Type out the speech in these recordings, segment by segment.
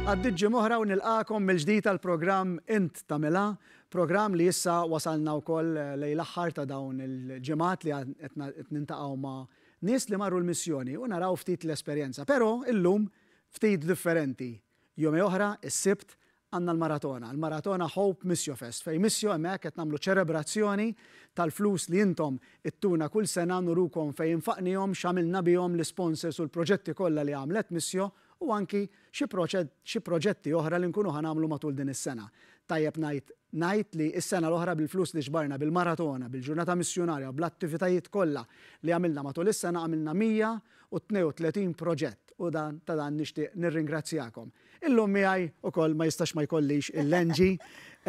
Għaddiet ġimgħa oħra u nilqagħkom mill-ġdid għall-programm Int Tagħmilha, programm li issa wasalna wkoll lejn l-aħħar ta' dawn il-ġimgħat li qed nintaqgħu ma' nies li marru l-missjoni u naraw ftit l-esperjenza. Però illum ftit differenti. Jumej oħra, is-Sibt, għandna l-maratona, il-maratona Hope Missio Fest, fejn Missio hemmhekk qed nagħmlu ċelebrazzjoni tal-flus li intom ittuna kull sena, nurukom fejn infaqnihom, x'għamilna bihom, l-isponsors u l-proġetti kollha li għamlet Missio u anki xi xi proġetti oħra li nkunu ħa nagħmlu matul din is-sena. Tajjeb ngħid ngħid li s-sena l-oħra bil-flus li ġbarna bil-maratona, bil-ġurnata missjunarja u bl-attivitajiet kollha li għamilna matul is-sena għamilna 132 proġett u dan ta' dan nixtieq nirringrazzjakom. Illum miegħi ukoll ma jistax ma jkollix il-Angie,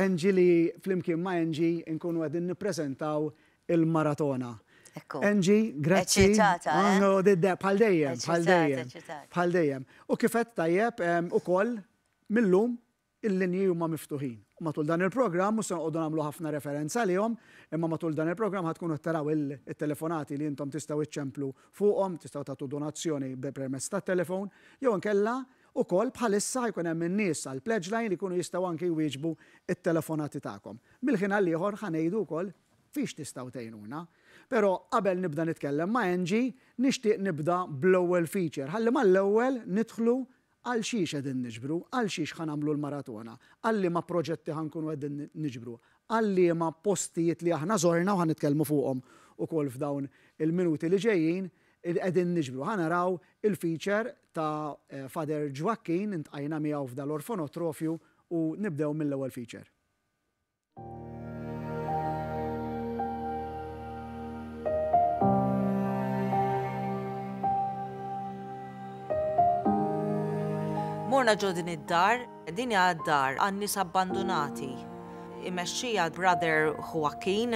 Angie li flimkien ma' Angie nkunu qegħdin nippreżentaw il-maratona. Ekku. Angie, grazzi. Eċitata, eh? No, bħal dejjem, bħal Eċitata, dejjem. eċitata. Bħal dejjem. U kif għedt tajjeb ukoll millum il-linji huma miftuħin. U matul dan il-programm mhux se noqogħdu nagħmlu ħafna referenza għalihom, imma matul dan il-programm ħa tkunu taraw il-telefonati li intom tistgħu iċċemplu fuqhom, tistgħu tagħtu donazzjoni permezz tat-telefon, jew inkella ukoll bħalissa ħa jkun hemm in-nies għal pledge line li jkunu jistgħu anki jwieġbu it-telefonati tagħkom. Mill-ħin għal ieħor ħa ngħidu wkoll fiex tistgħu tgħinuna. Però qabel nibda nitkellem ma' Angie, nixtieq nibda bl-ewwel feature, ħalli mal-ewwel nidħlu għal xiex qegħdin niġbru, għal xiex ħa nagħmlu l-maratona, għal liema proġetti ħa nkunu qegħdin niġbru, għal liema postijiet li aħna żorna u ħa nitkellmu fuqhom ukoll f'dawn il-minuti li ġejjin qegħdin niġbru. Ħa naraw il-feature ta' Father Joaquin, intqajna miegħu f'dal-orfanotrofju u nibdew mill-ewwel feature. Morna ġo din id-dar, din hija d-dar għan-nies abbandunati. Imexxija Brother Joaquin.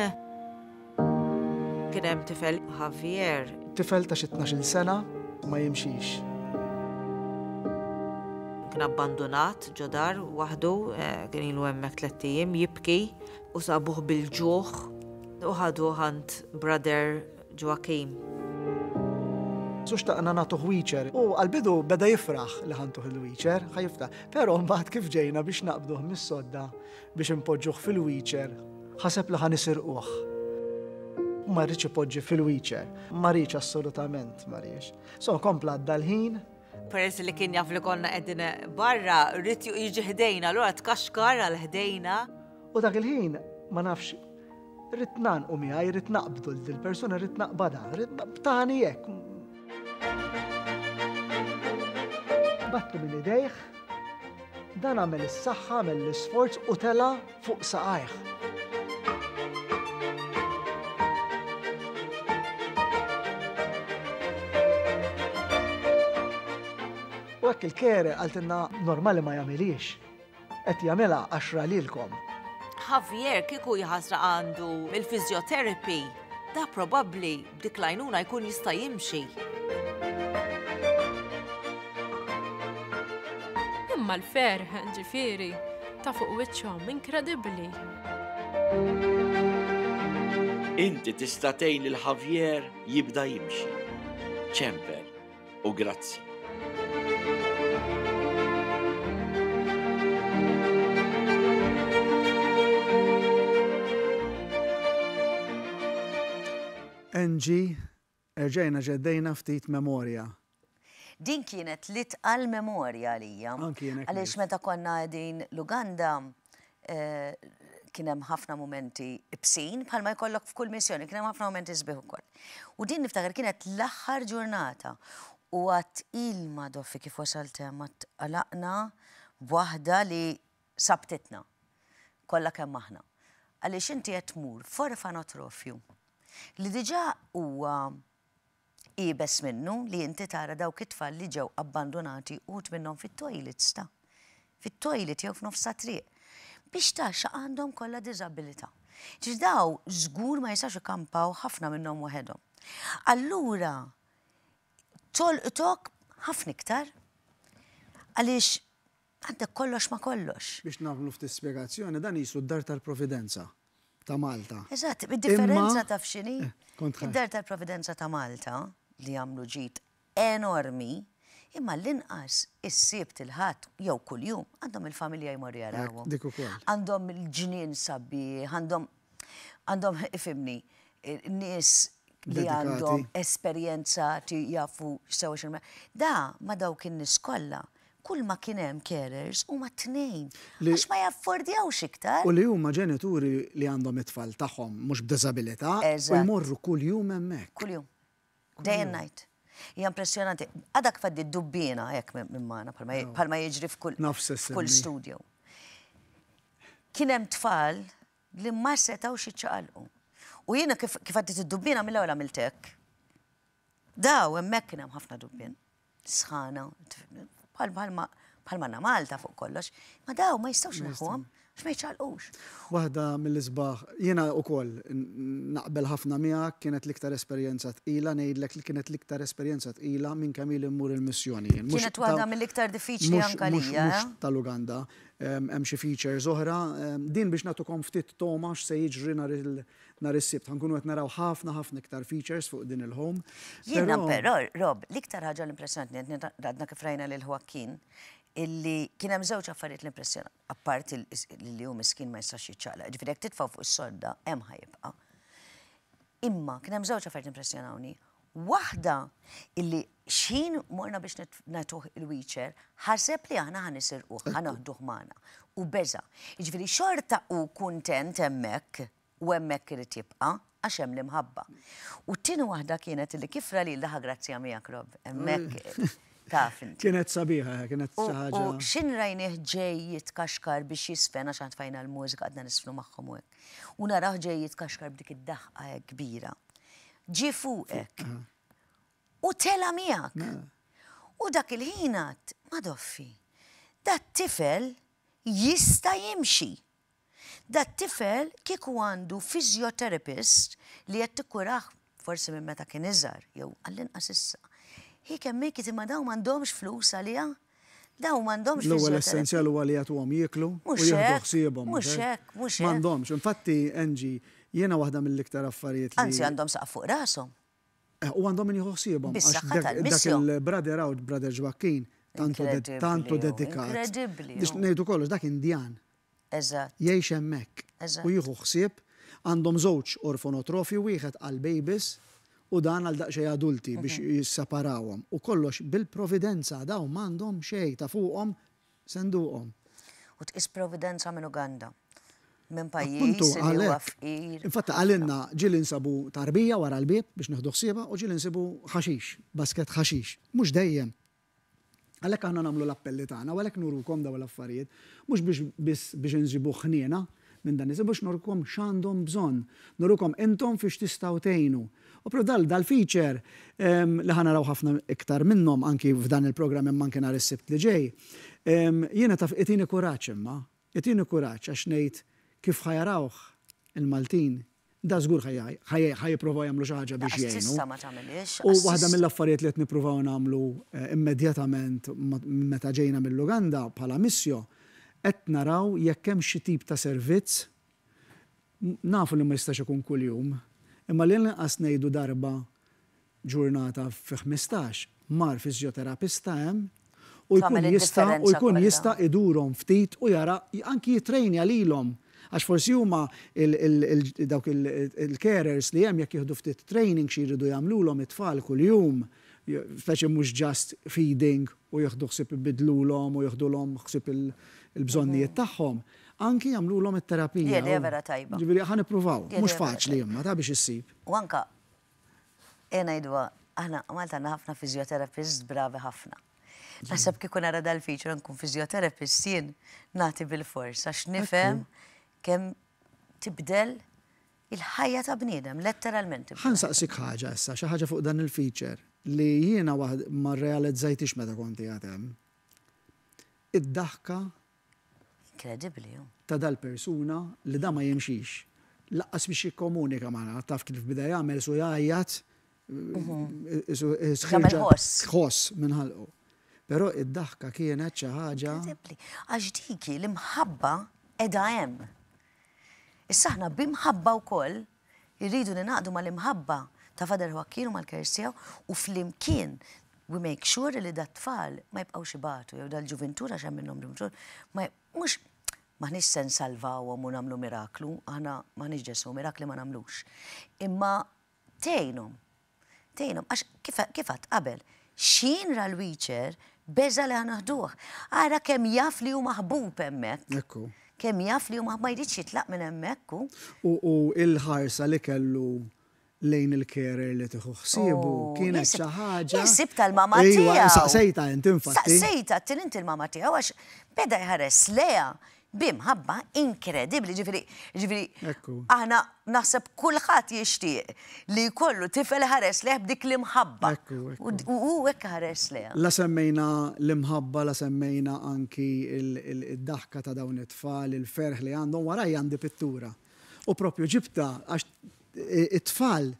Kien hemm tifel Javier. Tifel ta' xi 12-il sena ma jimxix. Kien abbandunat ġo dar waħdu, eh, kien ilu hemmhekk tlett ijiem jibki u sabuh bil-ġuħ u ħaduh għand Brother Joaquim. Su xtaqna nagħtuh wheelchair u għall-bidu beda jifraħ li ħantuh il-wheelchair, ħa jiftaħ. Però mbagħad kif ġejna biex naqbduh mis-sodda biex inpoġġuh fil-wheelchair, ħaseb li ħa nisirquh. Ma rridx ipoġġi fil-wheelchair, ma rridx assolutament ma rridx. So kompla għadda l-ħin. Peress li kien jaf li konna qegħdin barra, rrid jiġi ħdejna, allura tkaxkar għal ħdejna. U dak il-ħin ma nafx rrid nagħnqu miegħi, rrid naqbdu l persuna rrid naqbadha, rrid tani hekk. Battu minn idejh, dan għamel is-saħħa, għamel l-isforz u tela fuq saqajh. U hekk il-kere qaltilna normali ma jagħmilix. Qed jagħmilha għax ra lilkom. Javier kieku jħasra għandu il-physiotherapy, da probabbli b'dik l-għajnuna jkun jista' jimxi. Imma l-ferħ, ġifieri, ta' fuq wiċċhom inkredibbli. Inti tista' tgħin lil Javier jibda jimxi. Ċempel u grazzi. Angie, erġajna ġeddejna ftit memorja. Din kienet l-itqal memorja għalija. Anki jien hekk Għaliex ngħid. meta konna qegħdin l-Uganda eh, kien hemm ħafna mumenti ibsin bħalma jkollok f'kull missjoni, kien hemm ħafna mumenti sbieħ ukoll. U din niftakar kienet l-aħħar ġurnata u għat ilma doffi kif wasalt hemm għad għalaqna b'waħda li sabtitna kollha kemm aħna. Għaliex inti qed tmur f'orfanotrofju li diġà huwa iebes minnu li inti tara dawk it-tfal li ġew abbandunati uħud minnhom fit-toilets ta' fit-toilet jew f'nofs ta' triq biex taxxa għandhom kollha diżabilità. Ġifieri daw żgur ma jistax ikampaw ħafna minnhom waħedhom. Allura tolqtok ħafna iktar għaliex għandek kollox ma kollox. Biex nagħmlu ftit spjegazzjoni, dan qisu d-Dar tal-Providenza ta' Malta. Eżatt, id-differenza Imma- taf x'inhi? Eh, kont ħa- Id-Dar tal-Providenza ta' Malta li għamlu ġid enormi. Imma l-inqas is-Sibt, il-Ħadd jew kuljum għandhom il-familja jmorru jarawhom. Dik ukoll. Għandhom il-ġnien sabiħ, għandhom għandhom ifhimni, nies li għandhom esperjenza jafu sewa x'inhu. Da ma dawk in-nies kollha kull ma kien hemm carers huma tnejn. Għax ma jaffordjawx iktar. U li huma ġenituri li għandhom it-tfal tagħhom mhux b'diżabilità u jmorru kuljum hemmhekk. Kuljum. Day and night. Hija impressjonanti. Għadha kif għaddiet dubbiena hekk minn magħna bħalma jiġri f'kull studio. Kien hemm tfal li ma setgħux jiċċaqalqu. U jiena kif għaddiet id-dubbiena mill-ewwel għamilt hekk. Daw hemmhekk kien hemm ħafna dubbien. Sħana, bħalma għandna Malta fuq kollox, ma daw ma jistgħux inaħħuhom għax ma jiċċaqalqux. Waħda mill-isbaħ, jiena wkoll naqbel ħafna miegħek, kienet l-iktar esperjenza tqila, ngħidlek li kienet l-iktar esperjenza tqila minn kemm ili mmur il-missjoni jien. Kienet waħda mill-iktar diffiċli anke għalija. Mhux tal-Uganda, hemm xi features oħra. Din biex nagħtukom ftit togħma x'se jiġri nhar Nhar is-Sibt ħa nkunu qed naraw ħafna ħafna iktar features fuq din il-home. Jiena però, Rob, l-iktar ħaġa li impressjonatni, għadna kif rajna lil Joaquin, illi kien hemm żewġ affarijiet li impressjonat, apparti li hu miskin ma jistax jiċċaqlaq, ġifieri jekk titfgħu fuq is-sodda hemm ħa jibqa'. Imma kien hemm żewġ affarijiet impressjonawni. Waħda illi x'ħin morna biex nagħtuh il-wheelchair, ħaseb li aħna ħa nisirquh, ħa noħduh magħna. U beża'. Jiġifieri xorta hu kuntent hemmhekk u hemmhekk irid jibqa' għax hemm l-imħabba. U t-tieni waħda kienet illi kif ra lil daħa grazzja miegħek Rob, hemmhekk taf inti. Kienet sabiħa, kienet xi ħaġa. U x'in rajnih ġej jitkaxkar biex jisfen għax aħna tfajna l-mużika qgħadna nisfnu magħhom u hekk. U narah ġej jitkaxkar b'dik id-daħqa hekk kbira. Ġie fuqek. U tela' miegħek. U dak il-ħin għedt, Madoffi, dat-tifel jista' jimxi. Dat-tifel kieku għandu physiotherapist li qed tikkurah forsi minn meta kien iżgħar jew għall-inqas issa. He can make it imma dawn m'għandhomx flus għaliha. Dawn m'għandhomx L-ewwel essenzjal huwa li jagħtuhom jieklu u jieħdu ħsiebhom. Mhux hekk, mhux hekk. M'għandhomx. Infatti, Angie, jiena waħda mill-iktar affarijiet li. Anzi għandhom saqaf fuq rashom. U għandhom min jieħu ħsiebhom. Bis-saħħa tal-missio. Dak il-brother hawn, brother Joaquin, tantu dedikat. Inkredibbli. Biex ngħidu kollox, dak Indjan. Eżatt. Jgħix hemmhekk. Eżatt. U jieħu ħsieb. Għandhom żewġ orfonotrofi, wieħed għall-babies u dan għal daqsxejn adulti biex jisseparawhom. U kollox bil-providenza, dawn m'għandhom xejn ta' fuqhom senduqhom. U tqis providenza minn Uganda. Minn pajjiż li huwa fqir. Infatti qalilna ġieli nsabu tarbija wara l-bieb biex nieħdu ħsiebha u ġieli nsibu ħaxix, basket ħaxix. Mhux dejjem. Għalhekk aħna nagħmlu l-appelli tagħna u għalhekk nurukom dawn l-affarijiet, mhux biex biss biex inġibu ħniena minn dan nies, biex nurukom x'għandhom bżonn, nurukom intom fiex tistgħu tgħinu. U propju dal dal-feature li ħa naraw ħafna iktar minnhom anki f'dan il-programm imma anki nhar is-Sibt li ġej, jiena taf itini kuraġġ imma, itini kuraġġ għax ngħid kif ħa jarawh il-Maltin Da żgur ħa jipprovaw jagħmlu xi ħaġa biex jgħinu. Tista' ma tagħmilhiex. U waħda mill-affarijiet li qed nippruvaw nagħmlu immedjatament meta ġejna mill-Uganda bħala Missio, qed naraw jekk hemm xi tip ta' servizz, nafu li ma jistax ikun kuljum, imma li l-inqas ngħidu darba ġurnata fi 15, mar fiżjoterapista hemm u jkun jista' u jkun jista' idurhom ftit u jara anki jittrejnja lilhom għax forsi huma dawk il-carers li hemm jekk jieħdu ftit training xi jridu jagħmlulhom it-tfal kuljum, speċi mhux just feeding u jieħdu ħsieb ibiddlulhom u jieħdulhom ħsieb il-bżonnijiet tagħhom, anki jagħmlulhom it-terapija. Idea vera tajba. Ġifieri ħa nippruvaw, mhux faċli imma ta' biex issib. U anka Ejja ngħiduha, aħna Malta għandna ħafna physiotherapists bravi ħafna. Naħseb kieku nara dal-feature nkun physiotherapist jien nagħti bilfors għax nifhem kemm tibdel il-ħajja ta' bniedem, letteralment. Ħa nsaqsik ħaġa issa, xi ħaġa fuq dan il-feature li jiena ma rrealizzajtix meta kont qiegħed hemm. Id-daħka Inkredibbli hu. Ta' dal-persuna li da ma jimxix. Laqqas biex jikkomunika magħna, taf kif beda jagħmel su jgħajjat, Jagħmel ħoss. Ħoss minn ħalqu. Però id-daħka kienet xi ħaġa. Inkredibbli. Għax dik hi l-imħabba qiegħda hemm. Issa aħna b'imħabba wkoll irridu ningħaqdu mal-imħabba ta' Father Joaquin u mal-kers tiegħu u flimkien. We make sure li dat-tfal ma jibqgħux ibatu jew dal-ġuvintur għax hemm minnhom ġuvintur ma mhux m'aħniex se nsalvawhom u nagħmlu miraklu, aħna m'aħniex Ġesù, mirakli ma nagħmlux. Imma tgħinhom. Tgħinhom għax kif kif għedt qabel, x'ħin ra l-wheelchair beża' li ħa naħduh. Ara kemm jaf li hu maħbub hemmhekk. Ekku. Kemm jaf li hu ma jridx jitlaq minn hemmhekk hu. U u l-ħarsa li kellu lejn il-carer li tieħu ħsiebu kienet xi ħaġa. Jien sibtha l-mama tiegħu. Ejwa, saqsejtha int infatti. Saqsejtha, għedtilha inti l-mama tiegħu għax beda jħares lejha bi mħabba inkredibbli, ġifieri, ġifieri aħna naħseb kulħadd jixtieq li jkollu tifel iħares lejh b'dik l-imħabba. U hu hekk iħares lejha. La semmejna l-imħabba, la semmejna anki d-daħka ta' dawn it-tfal, il-ferħ li għandhom, warajja għandi pittura. U propju ġibtha għax it-tfal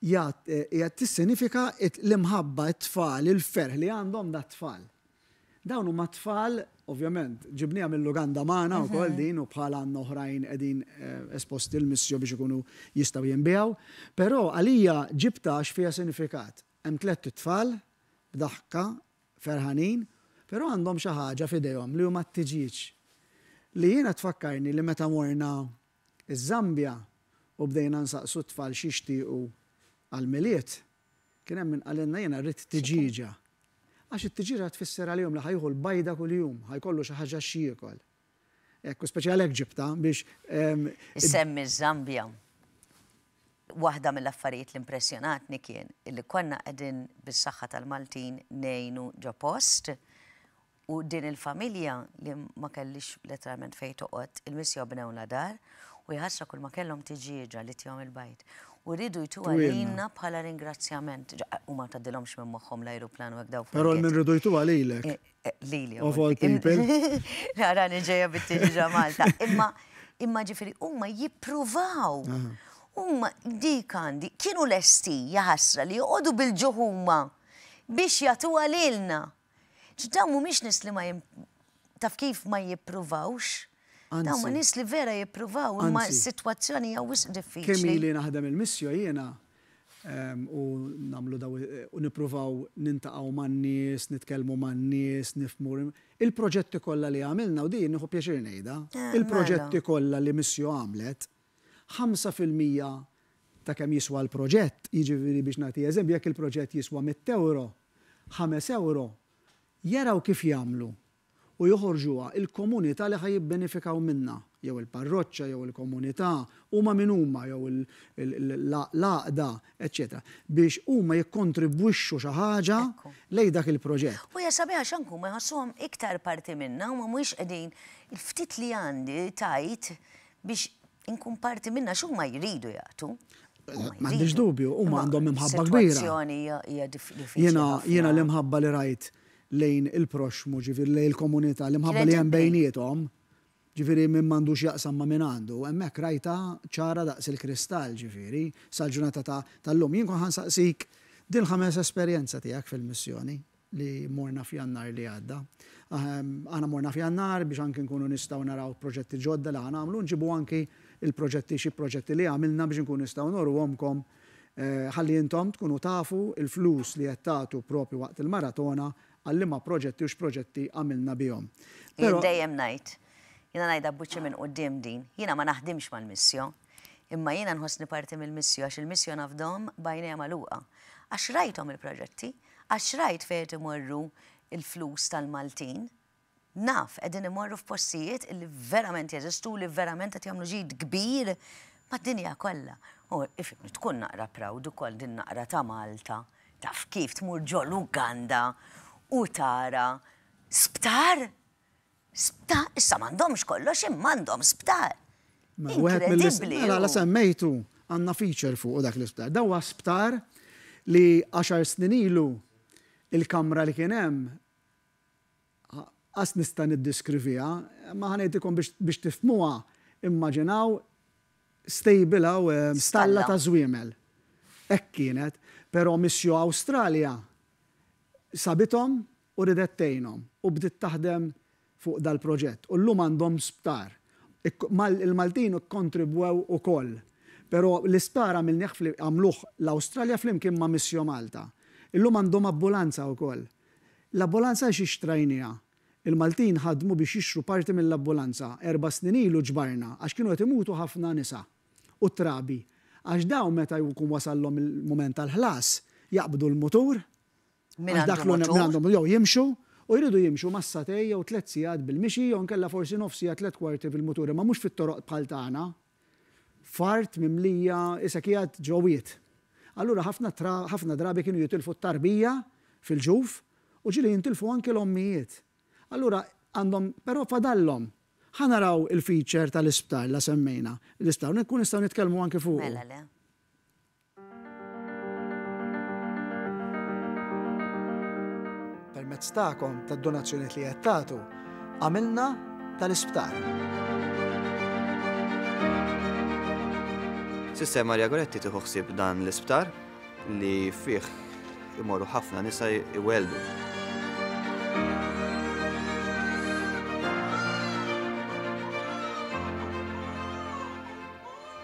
qiegħed tissinifika l-imħabba, it-tfal, il-ferħ li għandhom dat-tfal. Dawn huma tfal, ovvjament, ġibniha mill-Uganda magħna wkoll din u bħala għandna oħrajn qegħdin esposti l-Missio biex ikunu jistgħu jinbiegħu. Però għalija ġibtha għax fiha sinifikat. Hemm tlett itfal b'daħka, ferħanin, però għandhom xi ħaġa f'idejhom li huma t-tiġieġ. Li jiena tfakkarni li meta morna Iż-Żambja u bdejna nsaqsu t-tfal x'jixtiequ għall-Milied, kien hemm min qalilna jiena rrid tiġieġa. Għax it-tiġieġa tfisser għalihom li ħa jieħu l-bajda kuljum, ħa jkollu xi ħaġa x'jiekol. Hekk, u speċi għalhekk ġibtha biex. Issemmi ż-Żambja. Waħda mill-affarijiet li impressjonatni kien illi konna qegħdin bis-saħħa tal-Maltin ngħinu ġo post U din il-familja li ma kellix letteralment fejn toqgħod, il-missio bnewlha dar u jħassra kull ma kellhom tiġieġa li tihom il-bajd. U riedu jtuha lilna bħala ringrazzjament. U ma tgħaddilhomx minn moħħhom l-ajruplan u hekk daw. Però l-min riedu jtuha lilek. Lili. Of all people. Narani ġejja bit-tiġieġa Malta. Imma imma ġifieri huma jippruvaw. Huma dik għandi kienu lesti jaħasra li joqogħdu bil-ġuħ huma biex jagħtuha lilna. Dawn mhumiex nies li ma taf kif ma jippruvawx. Dawn huma nies li vera jippruvaw imma s-sitwazzjoni hija wisq diffiċli. Kemm ili naħdem il-missio jiena u nagħmlu daw u nippruvaw nintaqgħu man-nies, nitkellmu man-nies, nifhmu il-proġetti kollha li għamilna u din nieħu pjaċir ngħidha, il-proġetti kollha li Missio għamlet, 5% ta' kemm jiswa l-proġett, jiġifieri biex nagħti eżempju jekk il-proġett jiswa mitt ewro, ħames ewro, jaraw kif jagħmlu u joħorġuha il-komunità li ħa jibbenefikaw minnha, jew il-parroċċa jew il-komunità, huma min huma jew l-għaqda, eċċetera, biex huma jikkontribwixxu xi ħaġa lejn dak il-proġett. U hija sabiħa għax anke huma jħossuhom iktar parti minna, huma mhuwiex qegħdin il-ftit li għandi tajt biex inkun parti minnha għax huma jridu jagħtu. M'għandix dubju, huma għandhom imħabba kbira. Sitwazzjoni hija diffiċli. Jiena jiena l-imħabba li rajt lejn il-proxxmu, ġifieri lejn il-komunità, l-imħabba li hemm bejniethom, ġifieri min m'għandux jaqsam ma' min għandu, hemmhekk rajtha ċara daqs il-kristall, ġifieri, sal-ġurnata tal-lum. Jien kont ħa nsaqsik din l-ħames esperjenza tiegħek fil-missjoni. li morna f'Jannar li għadda. Aħna morna f'Jannar biex anki nkunu nistgħu naraw proġetti ġodda li ħa nagħmlu, nġibu anki il-proġetti xi proġetti li għamilna biex nkunu nistgħu noruhomkom ħalli intom tkunu tafu l-flus li qed tagħtu propju waqt il-maratona għal liema proġetti u x'proġetti għamilna bihom. Jien dejjem ngħid, jiena ngħidha b'wiċċi minn quddiem din, jiena ma naħdimx mal-Missio, imma jiena nħossni parti mill-Missio għax il-Missio nafdhom b'għajnejja magħluqa. Għax rajthom il-proġetti, Għax rajt fejn qed imorru l-flus tal-Maltin. Naf qegħdin imorru f'postijiet illi verament jeżistu u li verament qed jagħmlu ġid kbir mad-dinja kollha. U ifhimni, tkun naqra proud ukoll din naqra ta' Malta, taf kif tmur ġo l-Uganda u tara sptar! Sptar, issa m'għandhomx kollox imma għandhom sptar. Inkredibbli. Mela la semmejtu għandna feature fuq dak l-isptar. Dan huwa sptar li għaxar snin ilu il-kamra li kien hemm qas nista' niddiskriviha, ma ħa ngħidilkom biex tifhmuha, immaġinaw stable hawn stalla ta' żwiemel. Hekk kienet, però Missio Awstralja sabithom u ridet tgħinhom u bdiet taħdem fuq dal-proġett u llum għandhom sptar. Il-Maltin ikkontribwew ukoll. Però l-isptar għamilnih għamluh l-Awstralja flimkien ma' Missio Malta. Illum għandhom abbulanza wkoll. L-abbulanza għax xtrajniha? Il-Maltin ħadmu biex jixtru parti mill-abbulanza. Erba' snin ilu ġbarna għax kienu qed imutu ħafna nisa u trabi. Għax dawn meta jkun wasallhom il-mument tal-ħlas jaqbdu l-mutur Min għax dak għandu l-unika min mutur. għandhom jew jimxu u jridu jimxu ma' sagħtejn jew tlett sigħat bil-mixi jew inkella forsi nofs siegħa tlett kwarti fil-mutur imma mhux fit-toroq bħal tagħna. F'art mimlija isek qiegħed ġo wied. Allura ħafna tra ħafna drabi kienu jitilfu t-tarbija fil-ġuf u ġieli jintilfu anki l-ommijiet. Allura għandhom però fadallhom. Ħa naraw il-feature tal-isptar la semmejna l-isptar u nkunu nistgħu nitkellmu anki fuqu. Mela le. Permezz tagħkom, tad-donazzjonijiet li qed tagħtu, għamilna tal-isptar. Sister Maria Goretti tieħu ħsieb dan l-isptar li fih imorru ħafna nisa iwelldu.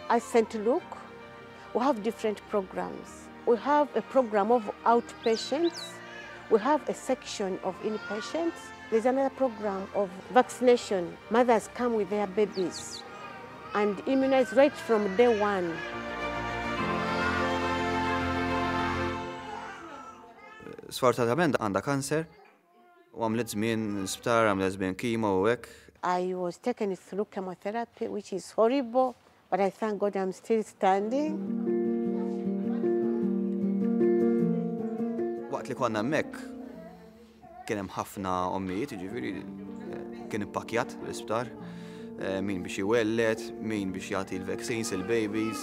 At St. Luke, we have different programs. We have a program of outpatients. We have a section of inpatients. There's another program of vaccination. Mothers come with their babies and immunize right from day one. Sfortunatament għandha kanser u għamlet żmien l-isptar, għamlet żmien kimo u hekk. I was taken through chemotherapy, which is horrible, but I thank God I'm still standing. Waqt li konna hemmhekk kien hemm ħafna ommijiet, jiġifieri kien ippakkjat l-isptar, min biex iwelled, min biex jagħti l-vaccines il-babies.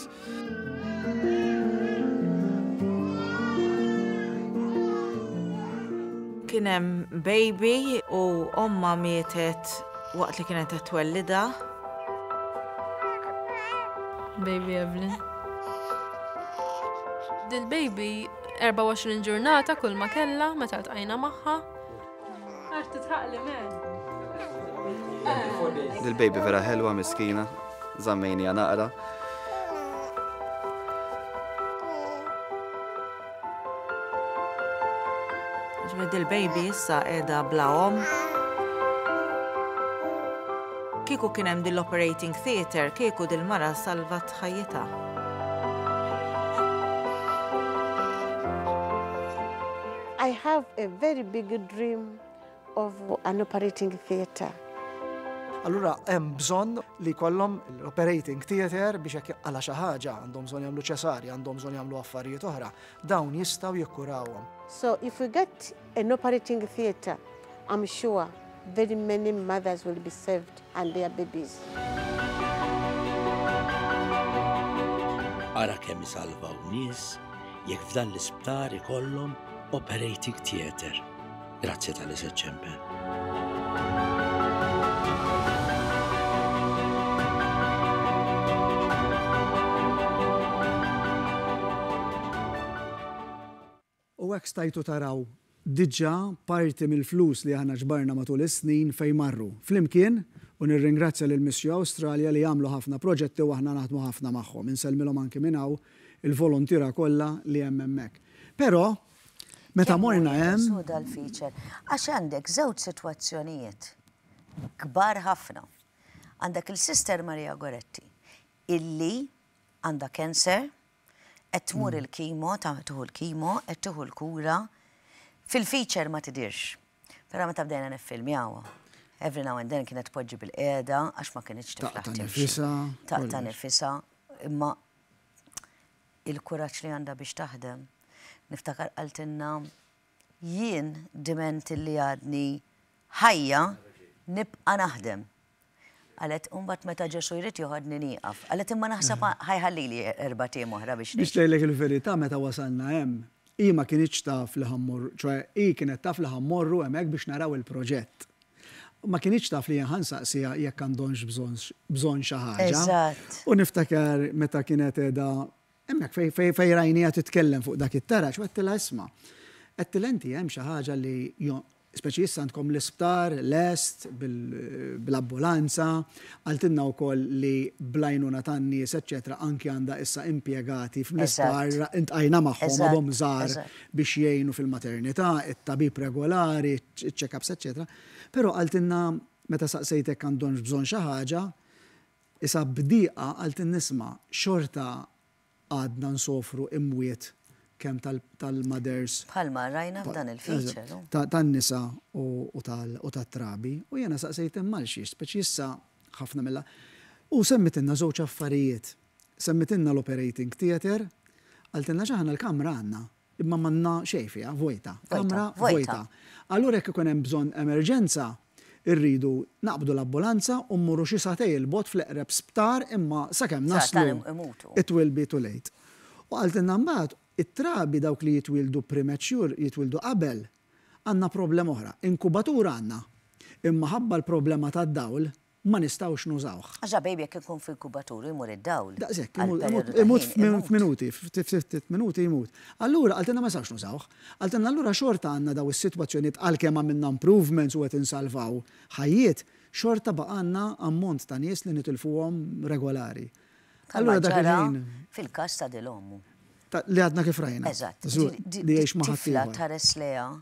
Kien hemm baby u ommha mietet waqt li kienet qed twellidha. Baby Evelyn. Dil-baby 24 ġurnata kull ma kellha meta ltqajna magħha. Għax titħaqli men. Dil-baby vera ħelwa miskina, żammejniha naqra. Ġifieri dil-baby issa qiegħda bla omm. Kieku kien hemm dil-operating theatre, kieku dil-mara salvat ħajjitha. I have a very big dream of an operating theatre. Allura hemm bżonn li jkollhom l-operating theatre biex jekk jaqala' xi ħaġa, għandhom bżonn jagħmlu ċesarja, għandhom bżonn jagħmlu affarijiet oħra, dawn jistgħu jikkurawhom. So if we get an operating theatre, I'm sure very many mothers will be saved and their babies. Ara kemm isalvaw nies jekk f'dan l-isptar ikollhom operating theatre. Grazzi talli se ċċempel. U hekk stajtu taraw diġà parti mill-flus li aħna ġbarna matul is-snin fejn marru. Flimkien, u nirringrazzja lil Missio Australia li jagħmlu ħafna proġetti u aħna naħdmu ħafna magħhom. Insellmilhom anki minn hawn il-voluntiera kollha li hemm hemmhekk. Però, meta morna hemm. Kemm hu dal-feature? Għax għandek żewġ sitwazzjonijiet kbar ħafna. Għandek il-Sister Maria Goretti illi għandha cancer, qed tmur il-kimo, tieħu l-kimo, qed tieħu l-kura, fil-feature ma tidhirx. Però meta bdejna niffilmjawha, every now and then kienet tpoġġi bilqiegħda għax ma kinitx tiflaħ timxi. Taqta' nifisha, imma il-kuraġġ li għandha biex taħdem. Niftakar qaltilna jien diment li għadni ħajja nibqa' naħdem. Qalet u mbagħad meta Ġesù jrid joħodni nieqaf. Qalet imma naħseb ħa jħallili erbat ijiem oħra biex Biex ngħidlek il-verità meta wasalna hemm, hi ma kinitx taf li ħa mmorru, ċoè hi kienet taf li ħa mmorru hemmhekk biex naraw il-proġett. Ma kinitx taf li jien ħa nsaqsiha jekk għandhomx bżonn xi ħaġa. Eżatt. U niftakar meta kienet qiegħda hemmhekk fejn fejn rajniha titkellem fuq dak it-taraġ u għedtilha isma', għedtilha inti hemm xi ħaġa li. Speċi issa għandkom l-isptar lest bl-ambulanza, qaltilna wkoll li bl-għajnuna tan-nies eċċetera anki għandha issa impjegati fl-isptar intqajna magħhom għadhom żgħar biex jgħinu fil-maternità, it-tabib regolari, iċ-check-ups eċċetera. Però qaltilna meta saqsejtek għandhomx bżonn xi ħaġa, isa b'dieqa qaltilna isma' xorta għadna nsofru imwiet kemm tal-mothers. Bħalma rajna f'dan il-feature. Tan-nisa u tat-trabi. U jiena saqsejt imma għal xiex, speċi issa ħafna mill U semmitilna żewġ affarijiet. Semmitilna l-operating theatre, qaltilna x'aħna l-kamra għandna. Imma m'għandna xejn fiha, vojta. Kamra vojta. Allura jekk ikun hemm bżonn emerġenza, irridu naqbdu l-ambulanza u mmorru xi sagħtej 'il bogħod fl-eqreb sptar imma sakemm naslu it will be too late. U qaltilna mbagħad it-trabi dawk li jitwieldu premature, jitwieldu qabel, għandna problema oħra. Inkubatur għandna, imma ħabba l-problema tad-dawl, ma nistgħux nużawh. Għax baby jekk ikun f'inkubatur u jmur id-dawl. Daqshekk, imut f'minuti, ftit minuti jmut. Allura qaltilna ma nistgħux nużawh. Qaltilna allura xorta għandna daw is-sitwazzjonijiet għalkemm għamilna improvements u qed insalvaw ħajjiet, xorta baqgħalna ammont ta' nies li nitilfuhom regolari. Allura dak il-ħin. Fil-każ ta' dil ommu. Li għadna kif rajna. Eżatt. Li jgħix ma' ħaddieħor. Tifla tħares lejha.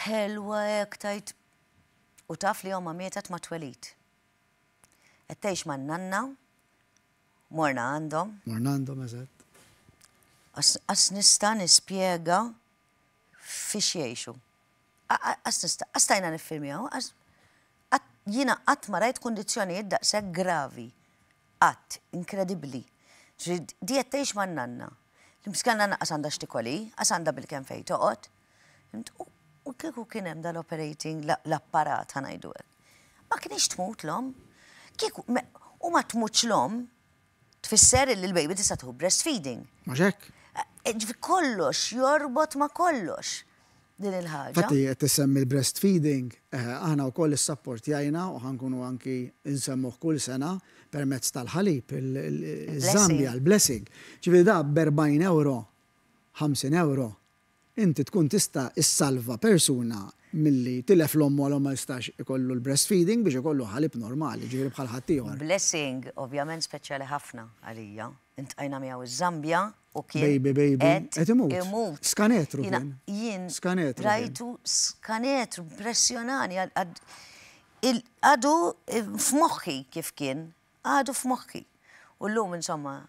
Ħelwa hekk tgħid U taf li ommha mietet mat-twelid. Qed tgħix man-nanna, morna għandhom. Morna għandhom, eżatt. Qas nista' nispjega fiex jgħixu. Qas nista', qas stajna niffilmjaw, jiena qatt ma rajt kundizzjonijiet daqshekk gravi. Qatt, inkredibbli. Ġifieri di qed tgħix man-nanna. L-imskena nanna qas għandha x'tikol hi, qas għandha bilkemm fejn toqgħod. Fhimt? U kieku kien hemm dal-operating l-apparat ħa ngħidu hekk. Ma kinitx tmut l-omm. Kieku u ma tmutx l-omm tfisser li l-baby tista' tieħu breastfeeding. Mhux hekk? Ġifieri kollox jorbot ma' kollox din il-ħaġa. Infatti qed tissemmi l-breastfeeding, aħna wkoll issapportjajna u ħa nkunu anki nsemmuh kull sena permezz tal-ħalib, iż-Zambia, l-blessing. Ġifieri da b'40 ewro, 50 ewro, Inti tkun tista' ssalva persuna milli tilef 'l ommu għal ma jistax ikollu l-breastfeeding biex ikollu ħalib normali, jiġifieri bħal ħaddieħor. Blessing ovvjament speċjali ħafna għalija. Iltqajna miegħu iż-Zambja u kien Baby, baby, qed imut. imut. Skanetru kien. Jien Skanetru kien. rajtu skanetru, impressjonani għadu f'moħħi kif kien. Għadu f'moħħi. U llum insomma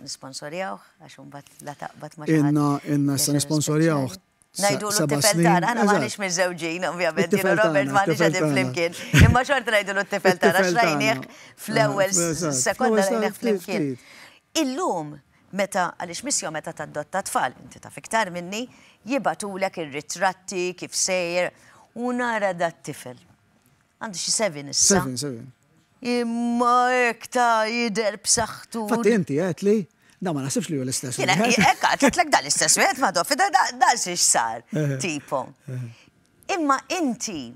nisponsorjawh għax imbagħad la taqbad ma' xi ħadd. Ilna ilna issa nisponsorjawh. Ngħidulu t-tifel tagħna, aħna m'aħniex miżżewġin ovvjament, jien u Robert m'aħniex qegħdin flimkien. Imma xorta ngħidulu t-tifel tagħna għax rajnieh fl-ewwel sekonda rajnieh flimkien. Illum meta għaliex missio meta tadotta tfal, inti taf iktar minni, jibagħtulek ir-ritratti kif sejjer u nara dat-tifel. Għandu xi seven issa. Seven, seven. Imma hekk ta' jidher b'saħħtu. Fatti inti għedt li da ma naħsibx li hu l-istess wieħed. Hekk għedtlek da l-istess wieħed ma dofi da da xiex sar tipo. Imma inti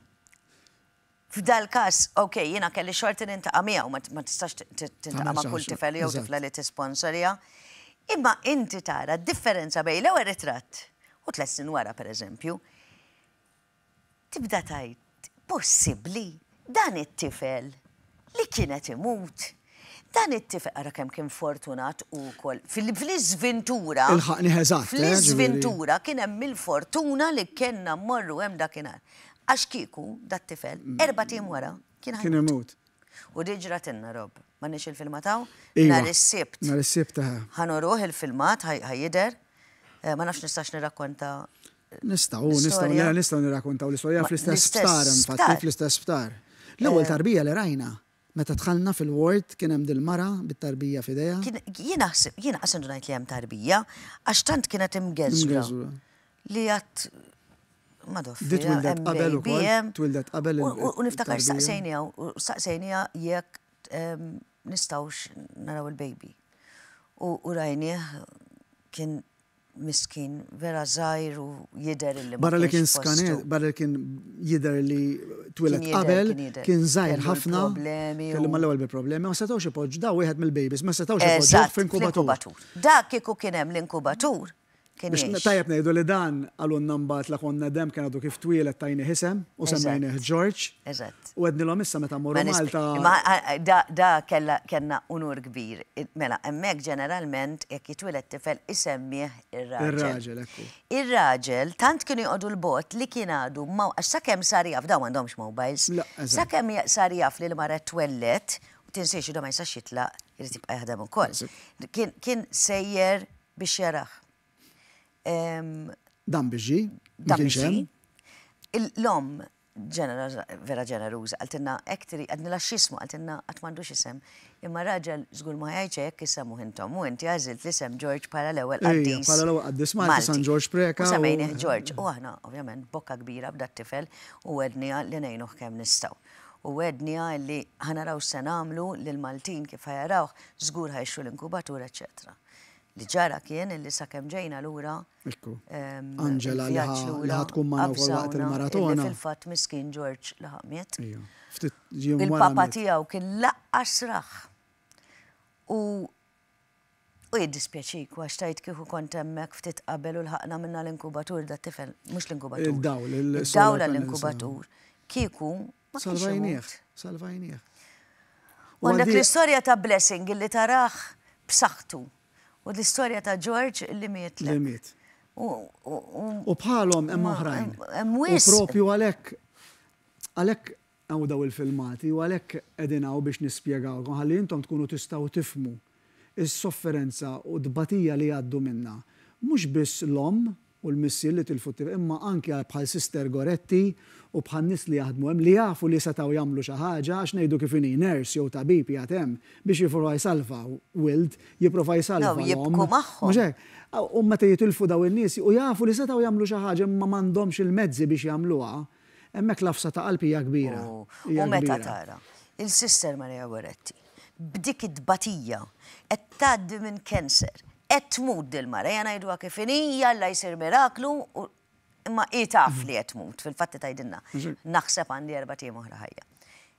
f'dal-każ, ok, jiena kelli xorti nintaqa' miegħu, ma tistax tintaqa' ma' kull tifel jew tifla li tisponsorja. Imma inti tara d-differenza bejn l-ewwel ritratt u tlett snin wara pereżempju. Tibda tgħid, possibbli dan it-tifel li kien qed imut? Dan it-tifel, ara kemm kien fortunat hu wkoll, fl-iżvintura. Ilħaqnih eżatt, eh, ġifieri. Fl-iżvintura kien hemm il-fortuna li kellna mmorru hemm dakinhar. Għax kieku dat-tifel erbat ijiem wara kien ħa jmut. Kien imut. U di ġratilna, Rob. M'għandniex il-filmat hawn? Iva. Nhar is-Sibt. Nhar is-Sibt, eħe. Ħa nuruh il-filmat, ħa jidher. Ma nafx nistax nirrakkonta Nistgħu, nistgħu, nistgħu nirrakkontaw l-istorja fl-istess sptar, infatti, fl-istess sptar. L-ewwel tarbija li rajna, meta dħalna fil-ward kien hemm dil-mara bit-tarbija f'idejha. Jiena ħsib, jiena qas indunajt li hemm tarbija, għax tant kienet imgeżwra. Li għad Madoff. Di twildet qabel ukoll. Twildet qabel. U niftakar staqsejniha, u staqsejniha jekk nistgħux naraw il-baby. U rajnieh kien Miskin, vera żgħir u jidher illi ma Barra li kien skanet, barra li kien jidher li twieled qabel, kien żgħir ħafna. Kellu mal-ewwel bi problemi, ma setgħux ipoġġu, da wieħed mill-babies, ma setgħux ipoġġuh f'inkubatur. Dak kieku kien hemm l-inkubatur, Kien Biex jgħix. tajjeb ngħidu li dan qalulna mbagħad la konna demm kien għadu kif twieled tajnih isem u semmejnih George. Eżatt. U għednilhom issa meta mmorru Ma nisp- Malta. Imma da, da kella kellna unur kbir. Mela, hemmhekk ġeneralment jekk jitwieled tifel isemmih ir-raġel. Ir-raġel, ekku. Ir-raġel tant kienu joqogħdu 'l bogħod li kien għadu ma għax sakemm sar jaf dawn m'għandhomx mobiles. La, eżatt. Sakemm sar jaf li l-mara twellet, u tinsiex da ma jistax jitlaq, irid jibqa' jaħdem ukoll. Kien kien sejjer biex jarah. Dan biex ġie, ma Dan kienx biex hemm. ġie. L-omm ġeneroża, vera ġeneruża, qaltilna hekk trid, għednilha x'ismu, qaltilna qatt m'għandux isem. Imma raġel żgur ma jgħidx hekk isemmuh intom u inti għażilt l-isem George bħala l-ewwel Ejja, qaddis. bħala l-ewwel qaddis Malti, San Ġorġ Preca U u- semmejnih George. U aħna ovvjament bokka kbira b'dat-tifel u għedniha li ngħinuh kemm nistgħu. U għedniha li ħa naraw x'se nagħmlu lill-Maltin kif ħa jarawh, żgur ħa jixtru l-inkubatur, eċċetera. Li ġara kien illi sakemm ġejna lura, Ekku. Angela li il-vjaġġ ħa lura, tkun magħna wkoll waqt avżawna il-maratona. Illi fil-fatt miskin George laħaq miet. Ejja. Ftit jiem wara Il-papa miet. tiegħu kien laqqas rah. U u jiddispjaċik għax tajt kieku kont hemmhekk ftit qabel u lħaqna minna l-inkubatur da tifel, mhux l-inkubatur. Il-dawl, il-solar Il-dawl panels, għall-inkubatur. Kieku ma kienx Salvajnieh, imut. salvajnieh. U għandek għaldi- l-istorja ta' Blessing illi tarah b'saħħtu. U l-istorja ta' George illi miet. Li miet. U U bħalhom hemm Ma- oħrajn. hemm U wisq. propju għalhekk għalhekk hawn daw il-filmati u għalhekk qegħdin hawn biex nispjegawkom ħalli intom tkunu tistgħu tifhmu is-sofferenza u tbatija li jgħaddu minna. Mhux biss l-omm u l-missier li tilfu t-tifel, imma anke bħal Sister Goretti u bħal nies li jaħdmu hemm li jafu li setgħu jagħmlu xi ħaġa għax ngħidu kif inhi nurse jew tabib qiegħed hemm biex jipprova jsalva wild, jipprova jsalva Daw jibku l-omm. magħhom. Mhux hekk? U meta jitilfu daw in-nies u jafu li setgħu jagħmlu xi ħaġa imma m'għandhomx il-mezzi biex jagħmluha, hemmhekk l-għafsa ta' qalb hija kbira. U Hija u meta kbira. tara il-Sister Maria Goretti b'dik it-tbatija qed tgħaddi minn cancer, qed tmut dil-mara, ejja ngħiduha kif inhi, jalla jsir miraklu, u imma hi taf li qed tmut, fil-fatt tgħidilna. Naħseb għandi erbat ijiem oħra ħajja.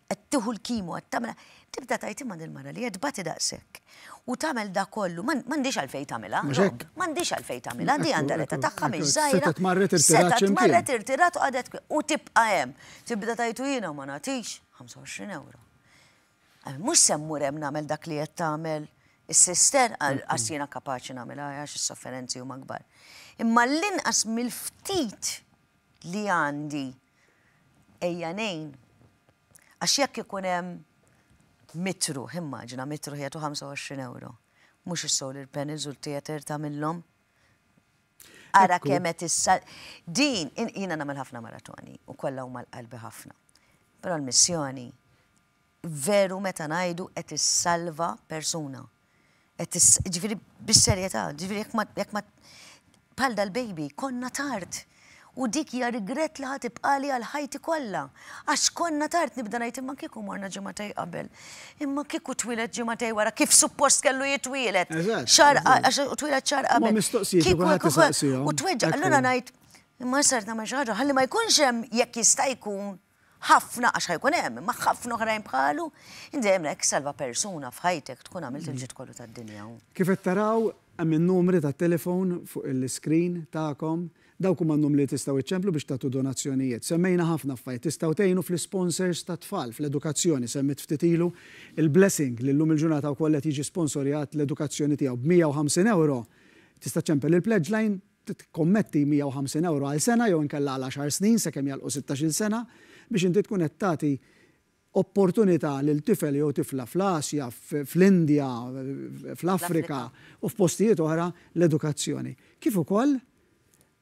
Qed tieħu l-kimo, qed tagħmel, tibda tgħid imma dil-mara li qed tbati daqshekk. U tagħmel da kollu, m'għandix għalfejn tagħmilha, Mhux Rob, hekk. m'għandix għalfejn tagħmilha, di Ekku, għandha l-età ekku, tagħha mhix ekku. żgħira. Setgħet marret irtirat Setgħet x'imkien. marret irtirat u qagħdet u tibqa' hemm. Tibda tgħid u jiena ma nagħtix 25 euro. Mhux se mmur hemm nagħmel dak li qed tagħmel is-sister, għax jiena kapaċi nagħmilha għax is-sofferenzi huma kbar. Imma l-inqas mill-ftit li għandi ejja ngħin. Għax jekk ikun hemm mitru, immaġina mitru ħietu 25 euro. Mhux is-solar panels u l-theater tagħmilhom. Ara Ekku. kemm qed issa din jiena nagħmel ħafna maratoni u kollha huma l-qalbi ħafna. Però l-missjoni veru meta ngħidu qed issalva persuna. Qed ġifieri bis-serjetà, ġifieri jekk ma jekk ma bħal dal-baby konna tard. U dik hija regret li ħa tibqali għal ħajti kollha. Għax konna tard nibda ngħid imma kieku morna ġimagħtej qabel. Imma kieku twieled ġimagħtej wara kif suppost kellu jitwieled. Eżatt, Xahar eżatt. għax twieled xahar Ma qabel. mistoqsijiet li Kieku kulħadd kieku isaqsihom. U tweġġa', Ekku. allura ngħid imma sar nagħmel xi ħaġa ħalli ma jkunx hemm jekk jista' jkun ħafna għax ħajkun hemm, imma ħafna oħrajn bħalu, inti dejjem hekk salva persuna f'ħajtek tkun għamilt il-ġid kollu tad-dinja. Kif qed taraw hemm in-numri tat-telefon fuq il-screen tagħkom, dawk huma n-numri li tistgħu iċċemplu biex tagħtu donazzjonijiet. Semmejna ħafna affarijiet, tistgħu tgħinu fl-sponsors tat-tfal, fl-edukazzjoni, semmit ftit ilu il-Blessing li llum il-ġurnata wkoll qed jiġi sponsorjat l-edukazzjoni tiegħu b'150 euro. Tista' ċempel il-pledge line, tikkommetti 150 euro għal sena jew inkella għal 10 snin sakemm jagħlqu 16-il sena biex inti tkun qed tagħti opportunità lil tifel jew tifla fl-Asja, fl-Indja, fl-Afrika u f'postijiet oħra l-edukazzjoni. Kif ukoll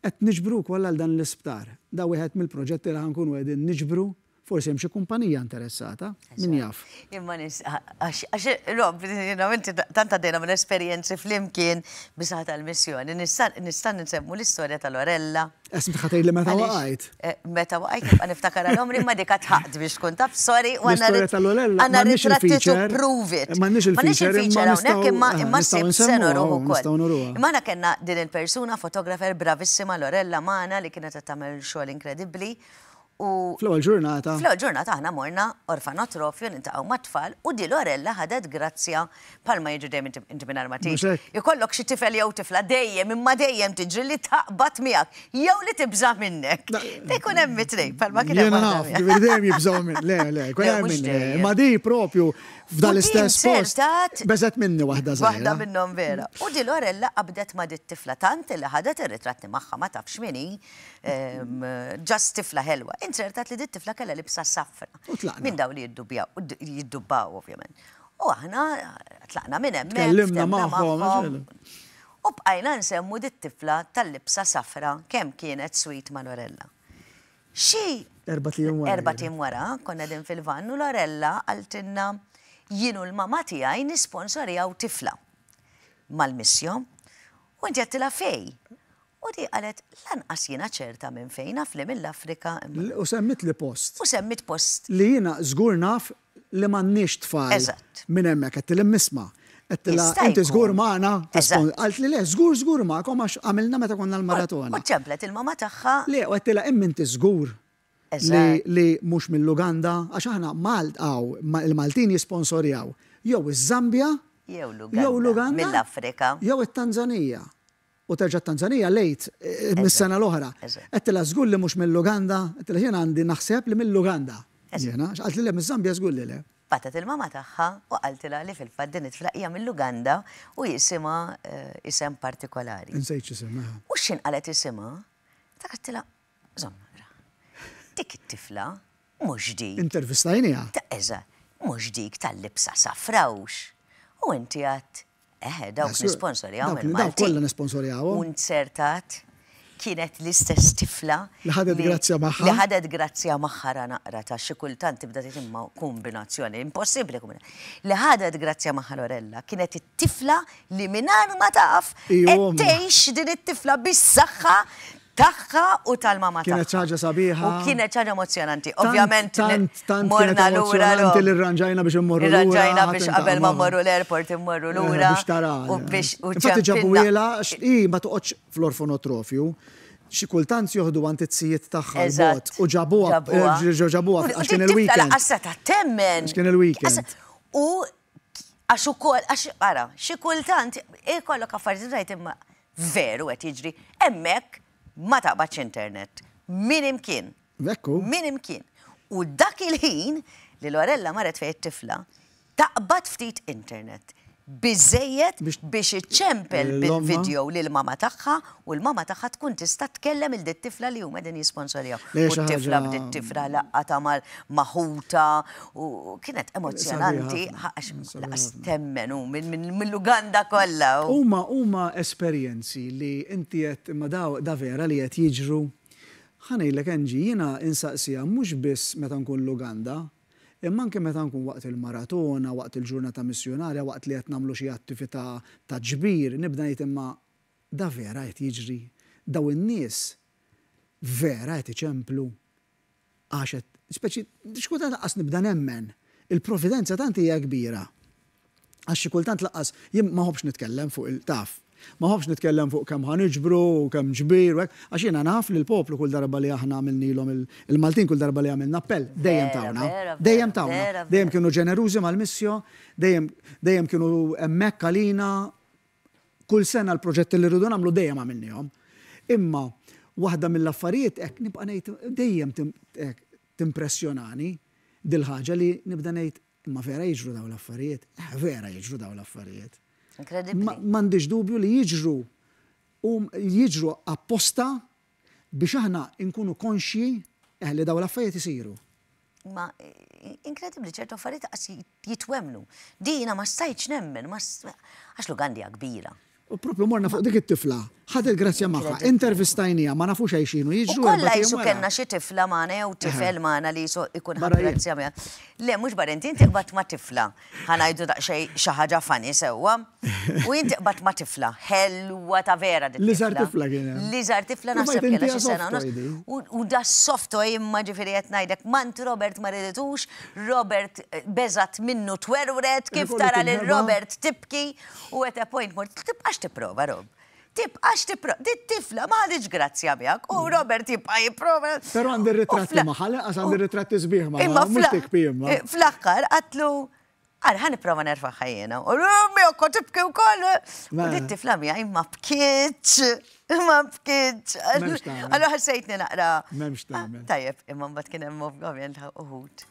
qed niġbru wkoll għal dan l-isptar. Da wieħed mill-proġetti li ħankunu qegħdin niġbru, forsi hemm xi kumpanija interessata, min jaf. Imma nis, għax, Rob, jiena inti tant għaddejna minn esperjenzi flimkien bisaħ tal-missjoni, nista' nsemmu l-istorja tal-Lorella. Esm tħatej li meta Għaliex, waqajt. Meta waqajt, nibqa' niftakar għal-omri, ma dik tħaqt biex tkun taf, sorry, u għandna L-istorja tal-Lorella, għandna m'għandniex ritratti to il-feature. prove it. M'għandniex M'għandniex il-feature, il-feature imma hawnhekk, imma nistgħu sib nsemmuha, se noruh ukoll. nistgħu noruha. Imma aħna kellna din il-persuna, fotografer bravissima Lorella magħna li kienet qed tagħmel xogħol inkredibbli. U Fl-ewwel ġurnata. Fl-ewwel ġurnata aħna morna orfanotrofju niltaqgħu mat-tfal u di Lorella ħadet grazzja bħalma jiġri dejjem inti inti mingħajr ma Mhux tgħid. hekk? Ikollok xi tifel jew tifla dejjem imma dejjem tiġri li taqbad miegħek jew li tibża' minnek. Ikun hemm it-tnejn bħalma kien hemm Jiena waħda naf, miegħek. ġifieri dejjem jibżgħu minn. Le, le, jkun Le, hemm mhux min. dejjem. Imma di propju f'dan U din l-istess post inzertat beżgħet minni waħda Waħda żgħira. minnhom vera. U di Lorella qabdet ma' dit-tifla tant li ħadet ir-ritratti magħha ma tafx min hi. Just tifla ħelwa. Inzertat li dit tifla kellha libsa safra. U tlaqna. Minn daw li jiddubjaw, jiddubbaw ovvjament. U aħna tlaqna minn hemmhekk. Tkellimna ftemna magħhom, magħhom. U bqajna nsemmu dit tifla tal-libsa safra kemm kienet sweet ma' Lorella. Xi Erbat ijiem wara. Erbat ijiem wara, konna din fil-vann u Lorella qaltilna jien u l-mama tiegħi nisponsorjaw tifla mal-missio. U inti għedtilha fej. U di qalet, lanqas jiena ċerta minn fejn, naf li mill-Afrika. U semmitli post. U semmit post. Li jiena żgur naf li m'għandniex tfal minn hemmhekk. Għedtilha imma isma'. Għedtilha inti żgur magħna? Qaltli le, żgur żgur magħkom għax għamilna meta konna l-maratona. U ċemplet il-mama tagħha. Le, u għedtilha imma inti żgur li mhux mill-Uganda, għax aħna Malt hawn il-Maltin jisponsorjaw jew iż-Żambja, jew l-Uganda, mill-Afrika, jew it-Tanzanija. U terġa' t-Tanzanija lejt mis-sena l-oħra. Għedtilha żgur li mhux mill-Uganda, għedtilha jiena għandi naħseb li mill-Uganda. Jiena, għax qaltli le miż-Żambja żgur li le. Bagħtet il-mama tagħha u qaltilha li fil-fatt din it-tifla hija mill-Uganda u jisimha isem partikolari. Insejt x'isimha. U x'ħin qalet isimha, dak għedtilha, żomm naqra. Dik it-tifla mhux dik. Intervistajniha. Eżatt, mhux dik tal-libsa safra hux. U inti għedt, Eħe, dawk nisponsorjaw il-Maltin. Dawk kollha nisponsorjawhom. U nzertat kienet l-istess tifla. Li ħadet grazzja magħha. Li ħadet grazzja magħha ra naqra ta' xi kultant tibda tgħid imma kombinazzjoni, impossibbli kombinazzjoni. Li ħadet grazzja magħha Lorella kienet it-tifla li mingħajr ma taf qed tgħix din it-tifla bis-saħħa tagħha u tal-mama tagħha. Kienet xi ħaġa sabiħa. U kienet xi ħaġa emozzjonanti. Ovvjament Tant, tant morna kienet lura. emozzjonanti li rranġajna biex immorru lura. Irranġajna biex qabel ma mmorru l-airport immorru Eh, lura. Biex tara. U biex u Infatti ċempilna. ġabuhielha, għax hi ma toqgħodx fl-orfonotrofju. Xi kultant joħdu għand it-sijiet tagħha l-bogħod u ġabuha, eh, ġabuha għax kien il-weekend. Lanqas seta' temmen. Għax kien il-weekend. U għax ukoll, għax ara, xi kultant ikollok affarijiet rajt imma veru qed jiġri hemmhekk ma taqbadx internet. Min imkien. Ekku. Min imkien. U dak il-ħin li Lorella marret fejn it-tifla, taqbad ftit internet. Biżżejjed biex iċċempel bil-video lil mama tagħha u l-mama tagħha tkun tista' tkellem il dit-tifla li huma qegħdin jisponsorjaw. U t-tifla bdiet tifraħ laqgħatha ma' ħutha u kienet emozzjonanti għax laqas temmen hu mill-Uganda kollha. Huma huma esperjenzi li inti qed imma da da vera li qed jiġru. Ħa ngħidlek Angie, jiena insaqsiha mhux biss meta nkun l-Uganda, Imma anke meta nkun waqt il-maratona, waqt il-ġurnata missjunarja, waqt li qed nagħmlu xi attività ta' ġbir, nibda ngħid imma da vera qed jiġri? Dawn in-nies vera qed iċemplu għax qed, speċi, xi kultant lanqas nibda nemmen. Il-providenza tant hija kbira. Għax xi kultant lanqas, jien ma nħobbx nitkellem fuq il, taf, ma nħobbx nitkellem fuq kemm ħa niġbru u kemm ġbir u hekk, għax jiena naf li l-poplu kull darba li aħna għamilnilhom il-Maltin kull darba li għamilna appell, dejjem tawna. Dejjem tawna. Dejjem kienu ġenerużi mal-missio, dejjem dejjem kienu hemmhekk għalina. Kull sena l-proġetti li rridu nagħmlu dejjem għamilniehom. Imma waħda mill-affarijiet hekk nibqa' ngħid dejjem timpressjonani dil-ħaġa li nibda ngħid Imma vera jiġru dawn l-affarijiet? Eh, vera jiġru dawn l-affarijiet. Inkredibbli. M'għandix dubju li jiġru u jiġru apposta biex aħna nkunu konxji eh, li dawn l-affarijiet isiru. Ma inkredibbli ċertu affarijiet qas jitwemmnu. Di jiena ma stajtx nemmen, għax l-Uganda hija kbira. U propju morna fuq dik it-tifla, ħadet il-grazzja magħha, intervistajniha, ma nafux għajxin u jiġru. U kollha jisu kellna xi tifla magħna jew tifel magħna li jisu ikun ħa grazzja magħha. Le, mhux barra inti, inti qbadt ma' tifla. Ħa ngħidu daqsxejn xi ħaġa funny sewwa. U inti qbadt ma' tifla, ħelwa ta' vera dit-tifla. L-iżgħar tifla kien hemm. L-iżgħar tifla naħseb kellha xi sena u nofs. U da soft toy imma ġifieri qed ngħidlek mant Robert ma riditux, Robert beżgħet minnu twerwret, kif tara lil Robert tibki. U at a point mort, tibqax tipprova, Rob. Tibqax tipprova. Dit-tifla ma ħaditx grazzja miegħek u Robert jibqa' jipprova. Però għandi ritratti magħha, lanqas għandi ritratti sbieħ magħha, mhux tikbi imma. Fl-aħħar qatlu Ara, ħa nipprova nerfagħha jiena. U l-ummi u kont tibki wkoll. U dit-tifla miegħi ma bkietx, ma bkietx. Allura ħassejtni naqra. M'hemmx tagħmel. Tajjeb, imma mbagħad kien hemm ovvjament uħud.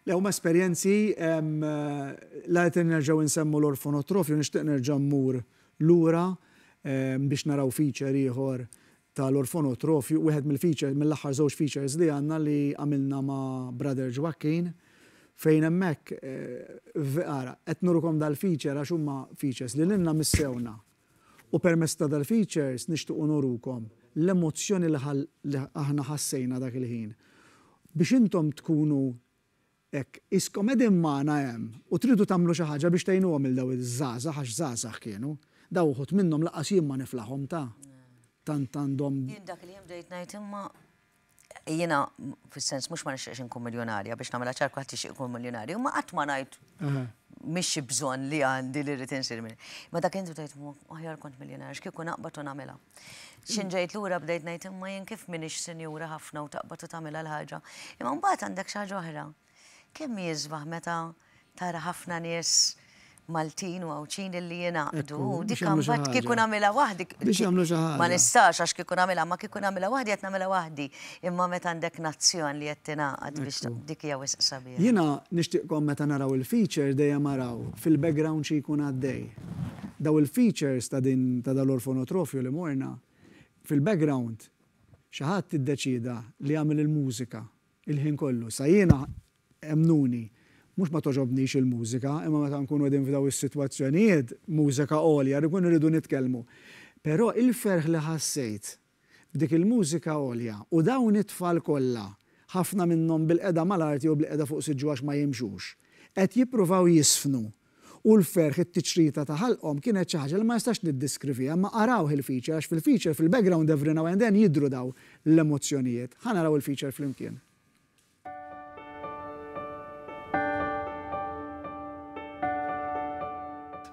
Le huma esperjenzi la qed nerġgħu nsemmu l-orfonotrofju nixtieq nerġa' mmur lura biex naraw feature ieħor tal-orfonotrofju, wieħed mill-feature, mill-aħħar żewġ features li għandna li għamilna ma' Brother Joaquin, fejn hemmhekk, ara, qed nurukom dal-feature għax huma features li lilna missewna. U permezz ta' dal-features nixtiequ nurukom l-emozzjoni li aħna ħassejna dak il-ħin. Biex intom tkunu Hekk, qiskom qegħdin magħna hemm u tridu tagħmlu xi ħaġa biex tgħinuhom lil dawn iż-żgħażagħ għax żgħażagħ kienu. Dawn uħud minnhom lanqas jien ma niflaħhom ta'. Tant għandhom. Jien dak il-jiem bdejt ngħid imma jiena fis-sens mhux ma nixtieqx inkun miljonarja biex nagħmilha ċar kulħadd jixtieq ikun miljonarju, imma qatt ma ngħid mhix xi bżonn li għandi li rrid insir minn. Ma dak inti bdejt aħjar kont miljonarja x'kieku naqbad u nagħmilha. X'in ġejt lura bdejt ngħid imma jien kif m'iniex sinjura ħafna u taqbad u tagħmilha l-ħaġa. Imma mbagħad għandek xi ħaġa oħra. Kemm jisbaħ meta tara ħafna nies Maltin u Għawdxin illi jingħaqdu. Dik mbagħad kieku nagħmilha waħdi. Biex jagħmlu xi ħaġa. Ma nistax għax kieku nagħmilha, ma kieku nagħmilha waħdi qed nagħmilha waħdi. Imma meta għandek nazzjon li qed tingħaqad biex dik hija wisq sabiħa. Jiena nixtieqkom meta naraw il-feature dejjem araw fil-background xi jkun għaddej. Daw il-features ta' din ta' dal-orfonotrofju li morna, fil-background xi ħadd iddeċieda li jagħmel il-mużika il-ħin kollu. Sa jiena emmnuni, mhux ma togħġobnix il-mużika, imma meta nkunu qegħdin f'daw is-sitwazzjonijiet, mużika għolja, nkunu rridu nitkellmu. Però il-ferħ li ħassejt b'dik il-mużika għolja u dawn it-tfal kollha, ħafna minnhom bilqiegħda mal-art jew bilqiegħda fuq siġġu għax ma jimxux, qed jippruvaw jiżfnu u l-ferħ, it-tiċrita ta' ħalqhom kienet xi ħaġa li ma nistax niddeskriviha, imma arawh il-feature għax fil-feature fil-background every now and then jidhru dawn l-emozzjonijiet. Ħa naraw il-feature flimkien.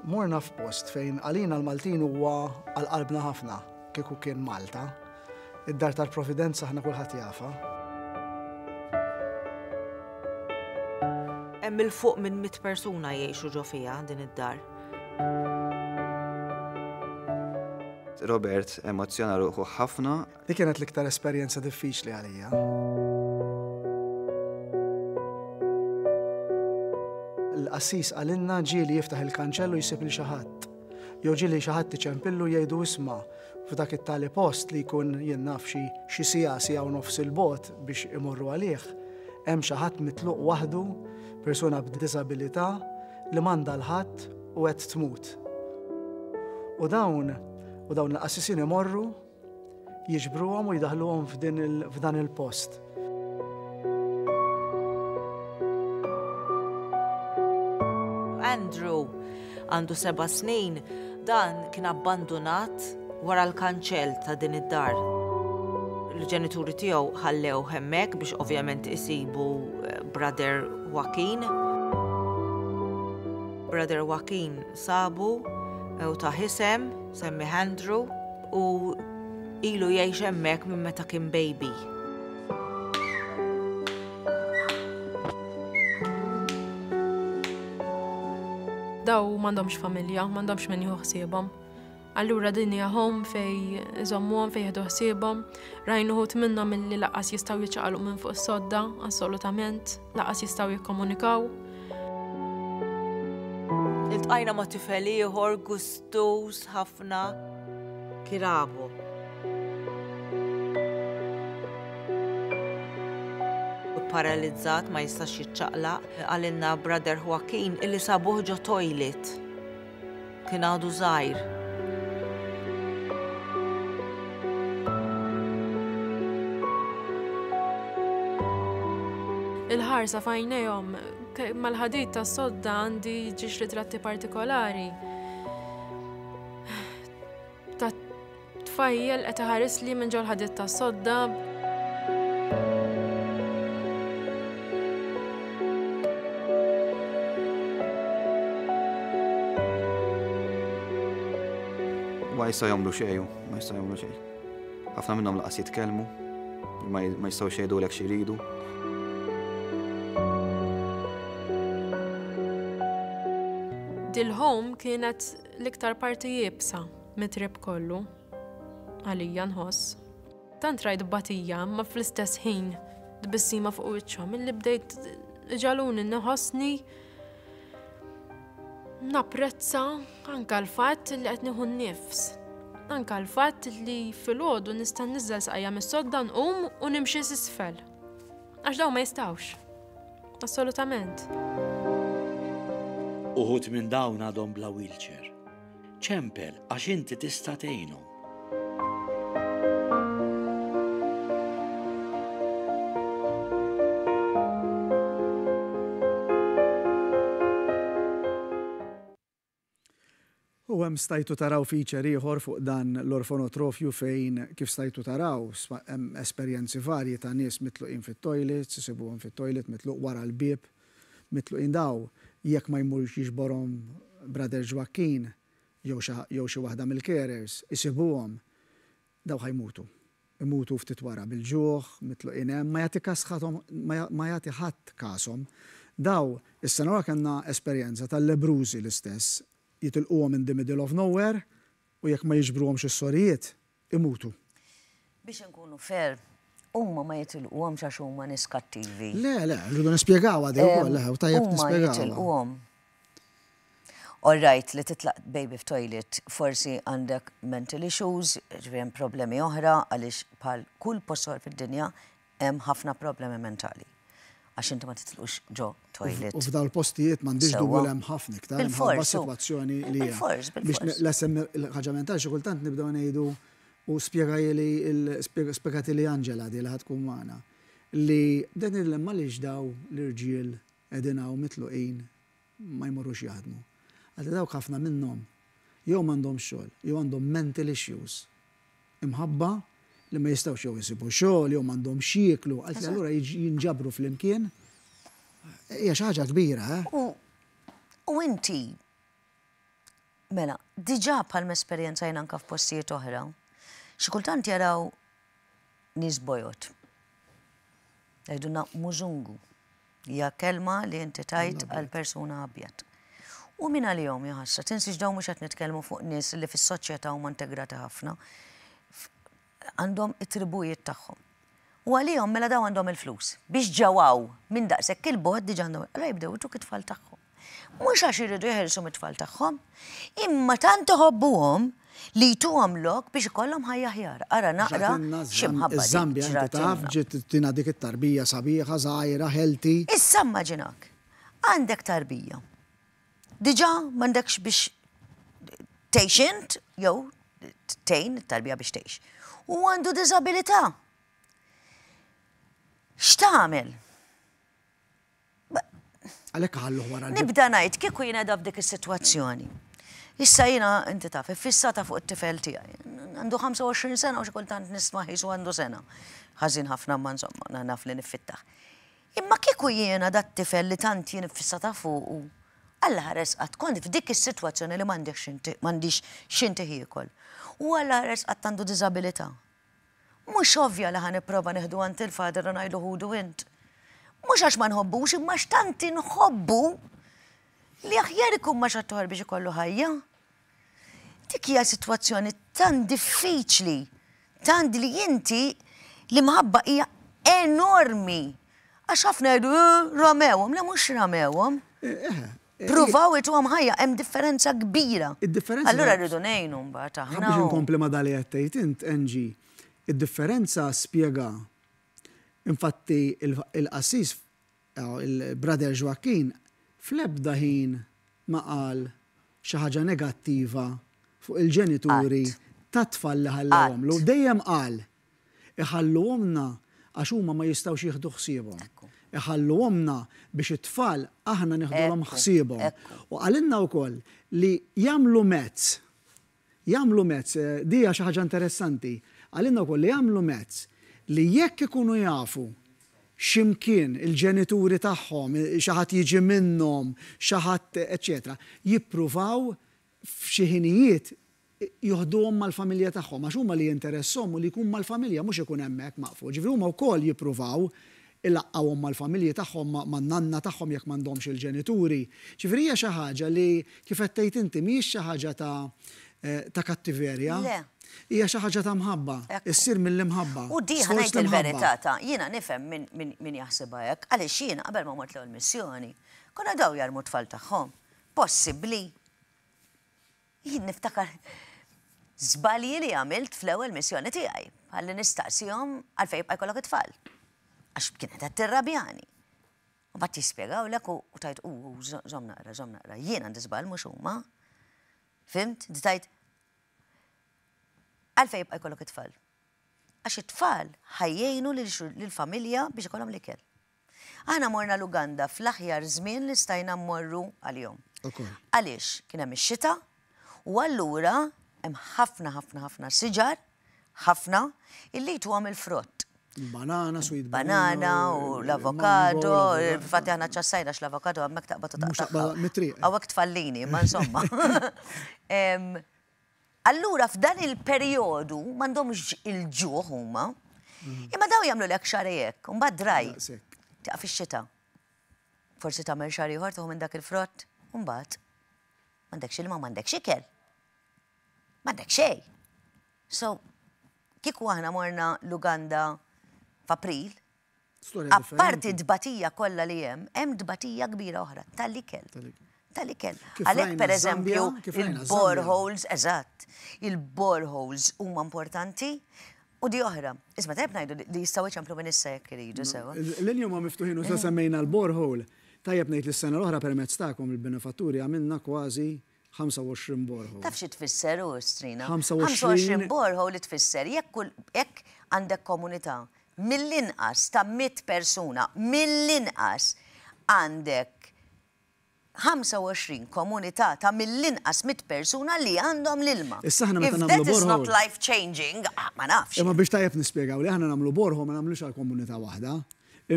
Morna f'post fejn għalina l-Maltin huwa għal qalbna ħafna, kieku kien Malta. Id-Dar tal-Providenza aħna kulħadd jafha. Hemm 'il fuq minn mitt persuna jgħixu ġo fiha din id-dar. Robert emozzjona ruħu ħafna. Dik kienet l-iktar esperjenza diffiċli għalija. Il-qassis qalilna ġieli jiftaħ il-kanċell u jsib lil xi ħadd. Jew ġieli xi ħadd iċempillu jgħidu isma' f'dak it-tali post li jkun jien naf xi xi siegħa, siegħa u nofs 'il bogħod biex imorru għalih, hemm xi ħadd mitluq waħdu, persuna b'diżabilità li m'għandha 'l ħadd u qed tmut. U dawn u dawn il-qassisin imorru jiġbruhom u jdaħħluhom f'dan il-post. Andrew għandu seba' snin, dan kien abbandunat wara l-kanċell ta' din id-dar. Il-ġenituri tiegħu ħallew hemmhekk biex ovvjament isibu eh, Brother Joaquin. Brother Joaquin sabu eh, u ta' isem, semmi Andrew, u ilu jgħix hemmhekk minn meta kien baby. Daw m'għandhomx familja, m'għandhomx min jieħu ħsiebhom. Allura din hija home fej iżommuhom fej jieħdu ħsiebhom. Rajnu ħut minnhom illi laqas jistgħu jiċċaqalqu minn fuq is-sodda, assolutament, laqas jistgħu jikkomunikaw. Iltqajna ma' tifel ieħor gustuż ħafna. Kirabo. Paralizzat ma jistax jiċċaqlaq, qalilna Brother Joaquin illi sabuh ġo toilet. Kien għadu żgħir. Il-ħarsa f'għajnejhom mal-ħadid tas-sodda għandi ġiex ritratti partikolari. Ta' tfajjel qed iħarisli minn ġol-ħadid tas-sodda. Ma jistgħu jagħmlu xejn, ma jistgħu jagħmlu xejn. Ħafna minnhom laqas jitkellmu, ma jistgħux jgħidulek xi jridu. Dil-home kienet l-iktar parti iebsa mit-trip kollu. Għalija nħoss. Tant rajt batija, ma fl-istess ħin tbissima fuq wiċċhom illi bdejt ġaluni nħossni napprezza anka l-fatt li qed nieħu n-nifs. Anka l-fatt li filgħodu nista' nniżżel saqajja mis-sodda nqum u nimxi s'isfel. Għax dawn ma jistgħux. Assolutament. Uħud minn dawn għadhom bla wheelchair. Ċempel għax inti tista' tgħinhom. U hemm stajtu taraw feature ieħor fuq dan l-orfonotrofju fejn kif stajtu taraw hemm esperjenzi varji ta' nies mitluqin fit-toilets, isibuhom fit-toilet mitluq wara l-bieb, mitluqin daw jekk ma jmurx jiġborhom Brother Ġwakkin jew xi jew xi waħda mill-carers isibuhom daw ħa jmutu. Imutu ftit wara bil-ġuħ, mitluqin hemm, ma jagħti kas ħathom ma jagħti ħadd kashom. Daw, is-sena l-oħra kellna esperjenza tal-lebbrużi l-istess, jitilquhom in the middle of nowhere u jekk ma jiġbruhomx is-sorijiet, imutu. Biex inkunu fair, huma ma jitilquhomx għax huma nies kattivi. Le, le, rridu nispjegawha di wkoll, le, u tajjeb nispjegawha. Huma jitilquhom. All right, li titlaq baby f'toilet, forsi għandek mental issues, ġifieri hemm problemi oħra għaliex bħal kull post fid-dinja hemm ħafna problemi mentali. Għax inti ma titlqux ġo toilet. U f'dawn il-postijiet m'għandix dubju li hemm ħafna iktar minħabba s-sitwazzjoni li hemm. Bilfors, bilfors. Biex l-SM il-ħaġa mentali xi kultant nibdew ngħidu u spjegajli spjegatili Angela di li ħa tkun magħna li bdejt ngħidilha imma għaliex daw l-irġiel qegħdin hawn mitluqin ma jmorrux jaħdmu. Qaltli dawk ħafna minnhom jew m'għandhomx xogħol jew għandhom mental issues imħabba li ma jistgħux jew isibu xogħol jew m'għandhomx x'jieklu, qaltli allura jinġabru flimkien. Hija xi ħaġa kbira, eh? U, u inti, mela, diġà bħalma esperjenzajna anke f'postijiet oħra, xi kultant jaraw nies bojod. Jgħidulna mużungu. Hija kelma li inti tgħid għal persuna abjad. U min għalihom jaħasra, tinsiex dawn mhux qed nitkellmu fuq nies li fis-soċjetà huma integrati ħafna. Għandhom it-tribujiet tagħhom. U għalihom mela dawn għandhom il-flus. Biex ġew hawn minn daqshekk il-bogħod diġà għandhom. Allura jibdew ituk it-tfal tagħhom. Mhux għax iridu jeħilsu mit-tfal tagħhom, imma tant iħobbuhom li jtuhom lok biex ikollhom ħajja aħjar. Ara naqra xi mħabba dik Iż-Żambja inti taf ġiet tina dik it-tarbija sabiħa, żgħira, healthy. Issa immaġinak, għandek tarbija. Diġà m'għandekx biex tgħix int jew tgħin it-tarbija biex tgħix. U għandu diżabilità. X'tagħmel? Għalhekk ħalluh wara l-bieb. Nibda ngħid kieku jien qiegħda f'dik is-sitwazzjoni. Issa jiena inti taf, iffissata fuq it-tifel tiegħi. Għandu 25 sena u xi kultant nisma' qisu għandu sena. Ħażin ħafna imma insomma naf li niffittah. Imma kieku jiena dat-tifel li tant jien iffissata fuqu, Alla ħares qatt kont f'dik is-sitwazzjoni li m'għandix x'inti jiekol. U Alla ħares qatt għandu diżabilità. Mhux ovvja li ħa nipprova nieħdu għand il-father u ngħidlu ħudu int. Mhux għax ma nħobbux imma għax tant inħobbu li aħjar ikun ma' xi biex ikollu ħajja. Dik hija sitwazzjoni tant diffiċli, tant li inti l-imħabba hija enormi. Għax ħafna jgħidu eh, ramewhom, le mhux ramewhom. Eh, eh, Pruvaw ituhom ħajja, hemm differenza kbira. Id-differenza. Allura rridu ngħinu mbagħad aħna. Biex inkompli ma' dali qed tgħid int, Angie, id-differenza spjega. Infatti il-qassis il-Brother Joaquin fl-ebda ħin ma qal xi ħaġa negattiva fuq il-ġenituri tat-tfal li ħallewhomlu. Dejjem qal Iħalluhomlna għax huma ma jistgħux jieħdu ħsiebhom. Iħalluhomlna biex it-tfal aħna nieħdulhom ħsiebhom. U qalilna wkoll li jagħmlu mezz, jagħmlu mezz, di hija xi ħaġa interessanti, qalilna wkoll li jagħmlu mezz li jekk ikunu jafu xi mkien il-ġenituri tagħhom, xi ħadd jiġi minnhom, xi ħadd eċċetera, jippruvaw f'xi ħinijiet. Joħduhom mal-familja tagħhom għax huma li jinteresshom hu li jkun mal-familja mhux ikun hemmhekk maqful. Ġifieri huma wkoll jippruvaw ilaqqgħuhom mal-familji tagħhom, man-nanna tagħhom jekk m'għandhomx il-ġenituri. Ġifieri hija xi ħaġa li kif qed tgħid inti mhijiex xi ħaġa ta' ta' kattiverja. Le. Hija xi ħaġa ta' mħabba. Issir mill-imħabba. U di ħa ngħid il-verità ta' jiena nifhem min min jaħsibha hekk għaliex jiena qabel ma mort l-ewwel missjoni konna daw jarmu t-tfal tagħhom. Possibbli? Jien niftakar żbalji li għamilt fl-ewwel missjoni tiegħi, bħal li nistaqsihom għalfejn jibqa' jkollok it-tfal. Għax kienet qed tirrabjani. U mbagħad jispjegawlek u tgħid u żomm naqra, żomm naqra, jien għandi żball mhux huma. Fhimt? Inti tgħid għalfejn jibqa' jkollok it-tfal. Għax it-tfal ħa jgħinu lill-familja biex ikollhom l-ikel. Aħna morna l-Uganda fl-aħjar żmien li stajna mmorru għalihom. Għaliex? Kien hemm ix-xita u allura hemm ħafna ħafna ħafna siġar, ħafna, illi jtuhom il-frott. Banana, sweet banana u l-avokado, infatti aħna ċassajna x-l-avokado hemmhekk taqbad u taqta'. Hawnhekk tfallini, ma insomma. Allura f'dan il-perjodu m'għandhomx il-ġuħ huma. Imma daw jagħmlulek xahar hekk, u mbagħad draj. Tieqaf ix-xita. Forsi tagħmel xahar ieħor tieħu minn dak il-frott, u mbagħad m'għandekx ilma m'għandekx ikel. M'għandek xejn. So, kieku aħna morna l-Uganda f'April, Apparti t-tbatija kollha li hemm, hemm tbatija kbira oħra, tal-ikel. Tal-ikel. Għalhekk pereżempju il-boreholes, eżatt, il-boreholes huma importanti u di oħra. Isma' tajjeb ngħidu li jistgħu jċemplu minn issa jekk iridu sewwa. L-linji huma miftuħin u sa semmejna l-borehole. Tajjeb ngħid li s-sena l-oħra permezz tagħkom il-benefatturi għamilna kważi 25 borehole. Taf xi tfisser hu, Strina? 25 borehole tfisser jekk kull jekk għandek komunità mill-inqas ta' 100 persuna, mill-inqas għandek 25 komunità ta' mill-inqas 100 persuna li għandhom l-ilma. Issa aħna meta nagħmlu borehole. If that is not borehole. life changing, ah, ma nafx. Imma biex tajjeb nispjegaw li aħna nagħmlu borehole ma nagħmlux għal komunità waħda.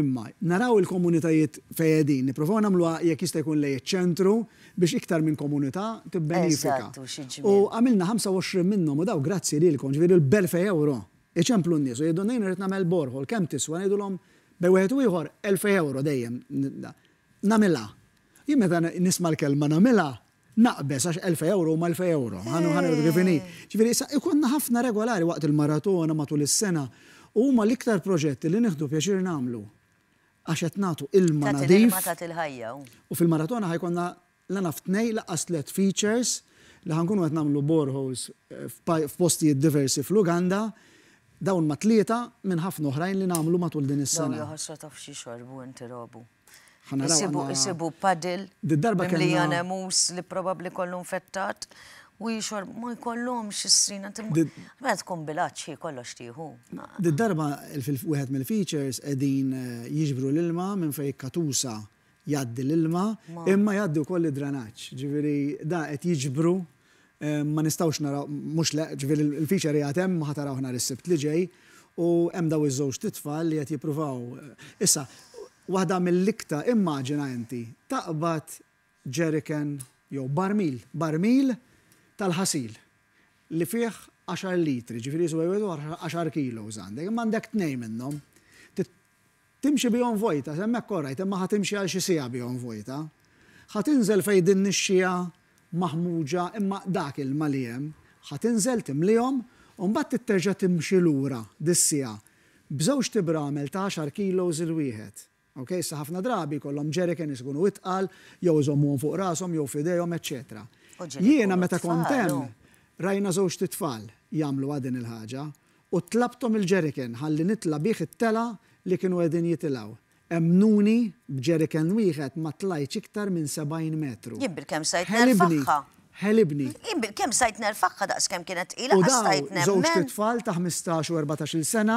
Imma, naraw il-komunitajiet fejn qegħdin, nipprovaw nagħmluha jekk jista' jkun lejn iċ-ċentru biex iktar minn komunità tibbenifika. Eżatt, u xi ġmiel. U għamilna 25 minnhom u dawn grazzi lilkom, ġifieri b'elfej ewro. Iċemplu n-nies u jgħidulna jien irrid nagħmel borehole, kemm tiswa? Ngħidulhom bejn wieħed u ieħor elfej ewro dejjem nagħmilha. Jien meta nisma' l-kelma nagħmilha, Naqbeż għax 1000 ewro huma 1000 ewro, ħa ngħidu kif inhi. Ġifieri issa ikollna ħafna regolari waqt il-maratona matul is-sena u huma l-iktar proġetti li nieħdu pjaċir nagħmlu għax qed nagħtu ilma Tagħti nadif. l-ilma tagħti l-ħajja u. U fil-maratona ħa jkollna la naf tnejn lanqas tlett features li ħa nkunu qed nagħmlu boreholes f'postijiet diversi fl-Uganda. Dawn ma tlieta minn ħafna oħrajn li nagħmlu matul din Dawn is-sena. jaħosra taf x'jixorbu inti robu. Ħa naraw Isibu, għandna. isibu puddle Did-darba mimlija kellna. nemus li probabbli kollu nfettat u jixorb ma jkollhomx is-srina. Did- Meta tkun bil-għatx hi kollox tieħu. Did-darba fil-wieħed mill-features qegħdin jiġbru l-ilma minn fejn katusa jgħaddi l-ilma, imma jgħaddi wkoll id-dranaġġ. Ġifieri da qed jiġbru Ma nistgħux naraw, mhux le, ġifieri l-feature qiegħed hemm, ħa tarawh nhar is-Sibt li ġej, u hemm dawn iż-żewġt itfal li qed jippruvaw. Issa, waħda mill-iktar, immaġina inti, taqbad jerrycan jew barmil, barmil tal-ħasil li fih għaxar litri, ġifieri jiswa wieħed u għaxar kilos għandek, imma għandek tnejn minnhom. Timxi bihom vojta, s'hemmhekk all right, imma ħa timxi għal xi siegħa bihom vojta. Ħa tinżel fejn din nixxiegħa maħmuġa imma dak ilma li hemm, ħa tinżel timlihom u mbagħad trid terġa' timxi lura dis-siegħa b'żewġt ibramel ta' għaxar kilos il-wieħed. Ok, issa ħafna drabi jkollhom jerrycans ikunu itqal jew iżommuhom fuq rashom jew f'idejhom eċċetera. U ġieli Jiena jkunu meta kont tfal, hemm hu. rajna żewġt itfal jagħmluha din il-ħaġa U tlabthom il-jerrycan ħalli nitla' bih it-telgħa li kienu qegħdin jitilgħu. Emmnuni, b'jerrycan wieħed ma tlajtx iktar minn 70 metru. Jien bilkemm stajt Ħelibni! nerfagħha. Ħelibni! Jien bilkemm stajt nerfagħha daqs kemm kienet tqila U qas dawn stajt żewġt nemmen. itfal ta' 15 u 14-il sena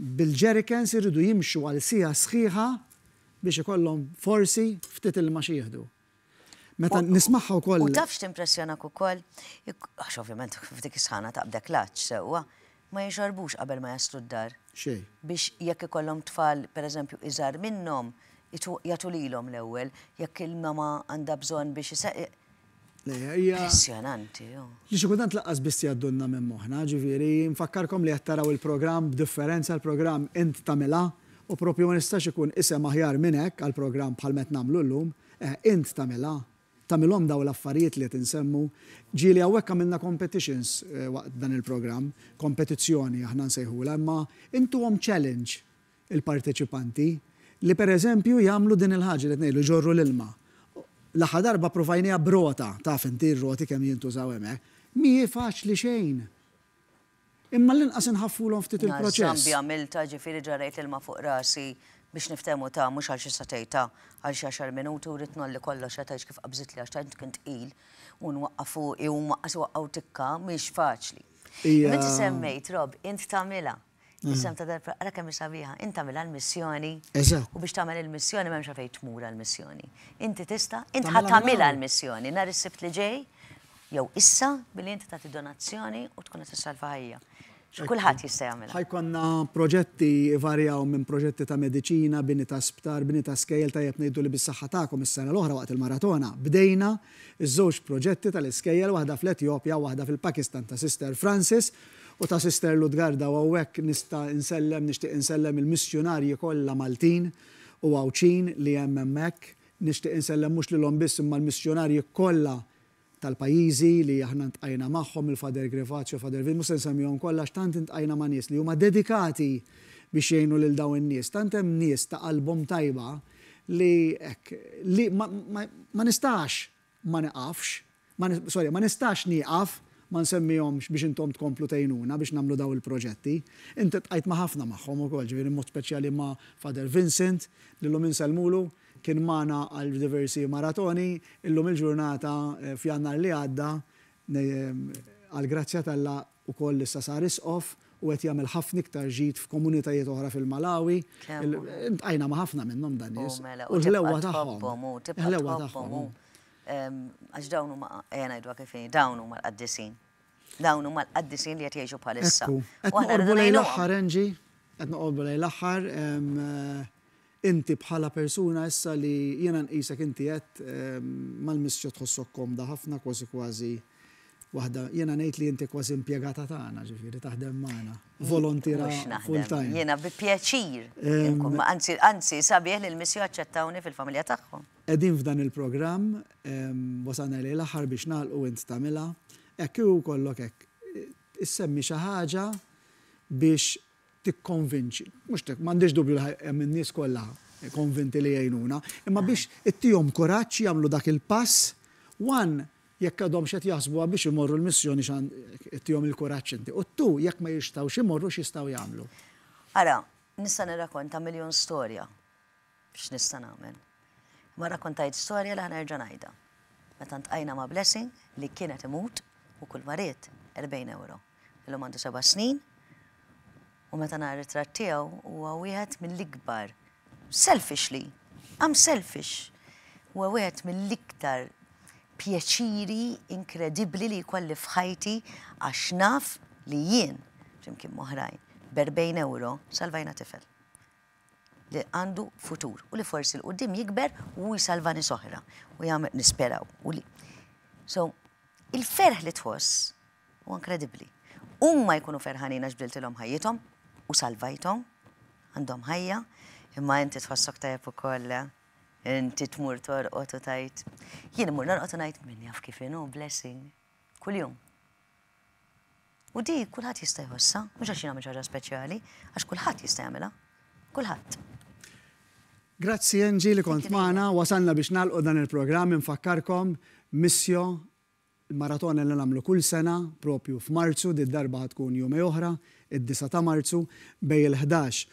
bil-jerrycans iridu jimxu għal siegħa sħiħa biex ikollhom forsi ftit ilma xi jieħdu. Meta nismagħha wkoll. U taf x'timpressjonak ukoll? Għax ovvjament f'dik is-sħana taqbdek l-għatx sewwa, ma jixorbux qabel ma jaslu d-dar. Xejn. Biex jekk ikollhom tfal pereżempju iżgħar minnhom, jagħtu lilhom l-ewwel, jekk il-mama għandha bżonn biex. Le, hija. Impressjonanti, hu. Li xi kultant lanqas biss jgħaddulna minn moħħna, ġifieri, nfakkarkom li qed taraw il-programm b'differenza, l-programm Int Tagħmilha, u proprju ma nistax ikun isem aħjar minn hekk għal programm bħal m'qed nagħmlu llum, eh, Int Tagħmilha. Tagħmilhom dawn l-affarijiet li qed insemmu. Ġieli hawnhekk għamilna competitions waqt dan il-programm, kompetizzjoni aħna nsejħulha, imma intuhom challenge il-parteċipanti li per eżempju jagħmlu din il-ħaġa li qed ngħidlu jġorru l-ilma. L-aħħar darba ppruvajniha b'rota, taf inti r-roti kemm jintużaw hemmhekk. Mhi faċli xejn. Imma l-inqas inħaffulhom ftit il-proċess. Żambi għamiltha, ġifieri ġarrejt l-ilma fuq rasi biex niftehmu ta' mhux għal xi sagħtejn ta' għal xi għaxar minuti u ridt ngħolli kollox għad tgħidx kif qabżitli għax tant kien tqil u nwaqqa' fuqi u huma qas iwaqqgħu tikka, mhix faċli. Imma inti semmejt, Rob, int tagħmilha. Isem ta' darba, ara kemm hi sabiħa, int tagħmilha l-missjoni. Eżatt. U biex tagħmel il-missjoni m'hemmx għalfejn tmur għall-missjoni. Inti tista', int ħa tagħmilha l-missjoni nhar is-Sibt li ġej, jew issa billi inti tagħti donazzjoni u tkun qed issalva ħajja. Kulħadd jista' jagħmilha. Ħa jkollna proġetti jvarjaw minn proġetti ta' mediċina, bini ta' sptar, bini ta' skejjel, tajjeb ngħidu li bis-saħħa tagħkom is-sena l-oħra waqt il-maratona bdejna ż-żewġ proġetti tal-iskejjel, waħda fl-Etjopja u waħda fil-Pakistan ta' Sister Frances u ta' Sister Lutgarda u hawnhekk nista' nsellem, nixtieq insellem il-missjunarji kollha Maltin u Għawdxin li hemm hemmhekk. Nixtieq insellem mhux lilhom biss imma l-missjunarji kollha tal-pajjiżi li aħna ntqajna magħhom, il-Father Grevazio, Father Vin, mhux se nsemmihom kollha għax tant intqajna ma' nies li huma dedikati biex jgħinu lil dawn in-nies, tant hemm nies ta' qalbhom tajba li hekk, li ma, ma, ma nistax ma niqafx, ma, sorry, ma nistax nieqaf ma nsemmihomx biex intom tkomplu tgħinuna biex nagħmlu dawn il-proġetti. Inti ltqajt ma' ħafna magħhom ukoll, ġifieri mod speċjali ma' Father Vincent, li llum insellmulu, Kien magħna għal diversi maratoni, illum il-ġurnata f'Jannar li għadda, għall-grazzja t'Alla ukoll issa sar isqof u qed jagħmel ħafna iktar ġid f'komunitajiet oħra fil-Malawi. Iltqajna ma' ħafna minnhom dan nies. U l-ħlewwa tagħhom. Il-ħlewwa tagħhom. Għax dawn huma, ejja ngħiduha kif inhi, dawn huma l-qaddisin. Dawn huma l-qaddisin li qed jgħixu bħalissa. Ekku. Qed noqorbu lejn l-aħħar, Angie. Qed noqorbu lejn l-aħħar. Inti bħala persuna issa li jiena nqisek inti għedt mal-missio tħossok komda ħafna kważi kważi waħda jiena ngħid li inti kważi impjegata tagħna ġifieri taħdem magħna, volontiera full time. Jiena bi pjaċir inkun ma' anzi anzi sabiħ li l-missio aċċettawni fil-familja tagħhom. Qegħdin f'dan il-programm, wasalna lejn l-aħħar biex nagħlqu int tagħmilha. Hekk kieku jkollok hekk issemmi xi ħaġa biex tikkonvinċi, mhux tik, m'għandix dubju li hemm in-nies kollha konvinti li jgħinuna, imma biex ittihom kuraġġ jagħmlu dak il-pass, one, jekk għadhomx qed jaħsbuha biex imorru l-missjoni ittihom il-kuraġġ inti. U two, jekk ma jistgħux imorru x'jistgħu jagħmlu? Ara, nista' nirrakonta miljun storja x'nista' nagħmel. Imma rrakkontajt storja li ħa nerġa' ngħidha. Meta ntqajna ma' Blessing li kien qed imut u kull ma ried 40 ewro. Illum għandu seba' snin u meta nara ritratt tiegħu huwa wieħed mill-ikbar selfishly, I'm selfish, huwa wieħed mill-iktar pjaċiri inkredibbli li jkolli f'ħajti għax naf li jien, flimkien m'oħrajn, b'erbgħin ewro salvajna tifel. Li għandu futur u li forsi 'l quddiem jikber u hu jsalva nies oħra u jagħmel nisperaw u li So, il-ferħ li tħoss huwa inkredibbli. Huma jkunu ferħanin għax bdiltilhom ħajjithom u salvajthom, għandhom ħajja, imma inti tħossok tajjeb ukoll, eh? Inti tmur torqod u tgħid. Jien immur norqod u ngħid min jaf kif inhu blessing. Kuljum. U di kulħadd jista' jħossha, mhux għax jien għamilt xi ħaġa speċjali, għax kulħadd jista' jagħmilha. Kulħadd. Grazzi Angie li kont magħna, wasalna biex nagħlqu dan il-programm, infakkarkom Missio, il-maratona li nagħmlu kull sena, propju f'Marzu, did-darba ħa tkun jumej oħra, id-disgħa ta' Marzu, bejn il-ħdax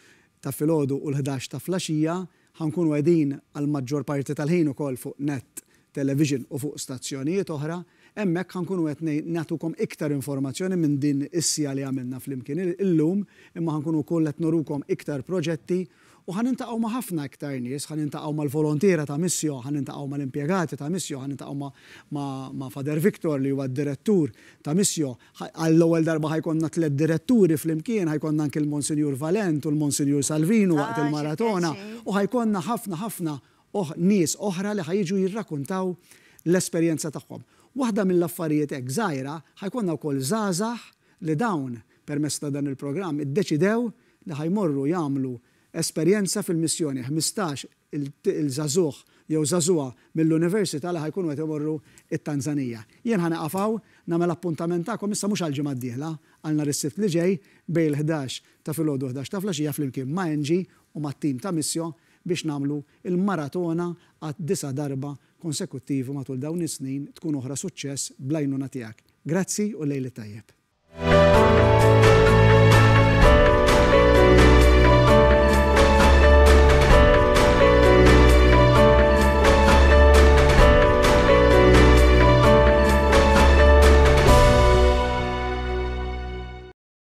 ta' filgħodu u l-ħdax ta' flaxija, Ħa nkunu qegħdin għall-maġġor parti tal-ħin ukoll fuq Net Television u fuq stazzjonijiet oħra. Hemmhekk ħa nkunu qed nagħtukom iktar informazzjoni minn din is-siegħa li għamilna flimkien illum, imma ħa nkunu wkoll qed nurukom iktar proġetti u ħa niltaqgħu ma' ħafna iktar nies, ħa niltaqgħu mal-volontiera ta' Missio, ħa niltaqgħu mal-impjegati ta' Missio, ħa niltaqgħu ma' ma' Father Victor li huwa d-direttur ta' Missio, Għall-ewwel darba ħa jkollna tlett diretturi flimkien, ħa jkollna anki l-Monsinjur Valent u l-Monsinjur Salvinu waqt il-maratona u ħa jkollna ħafna ħafna nies oħra li ħa jiġu jirrakuntaw l-esperjenza tagħhom. Waħda mill-affarijiet hekk żgħira, ħa jkollna wkoll żgħażagħ li dawn, permezz ta' dan il-programm, iddeċidew li ħa jmorru jagħmlu esperjenza fil-missjoni, 15 il żagħżugħ jew żagħżugħa mill-università li ħa jkunu qed imorru t-Tanzanija. Jien ħa nieqaf hawn, nagħmel appuntament tagħkom issa mhux għall-ġimgħa d-dieħla, għal nhar is-Sibt li ġej bejn il-11 ta' filgħodu u 11 ta' flaxija flimkien ma' Angie u mat-tim ta' Missio biex nagħmlu l-maratona għad-disa' darba konsekuttivi matul dawn is-snin tkun oħra suċċess bl-għajnuna tiegħek. Grazzi u l-lejl it-tajjeb.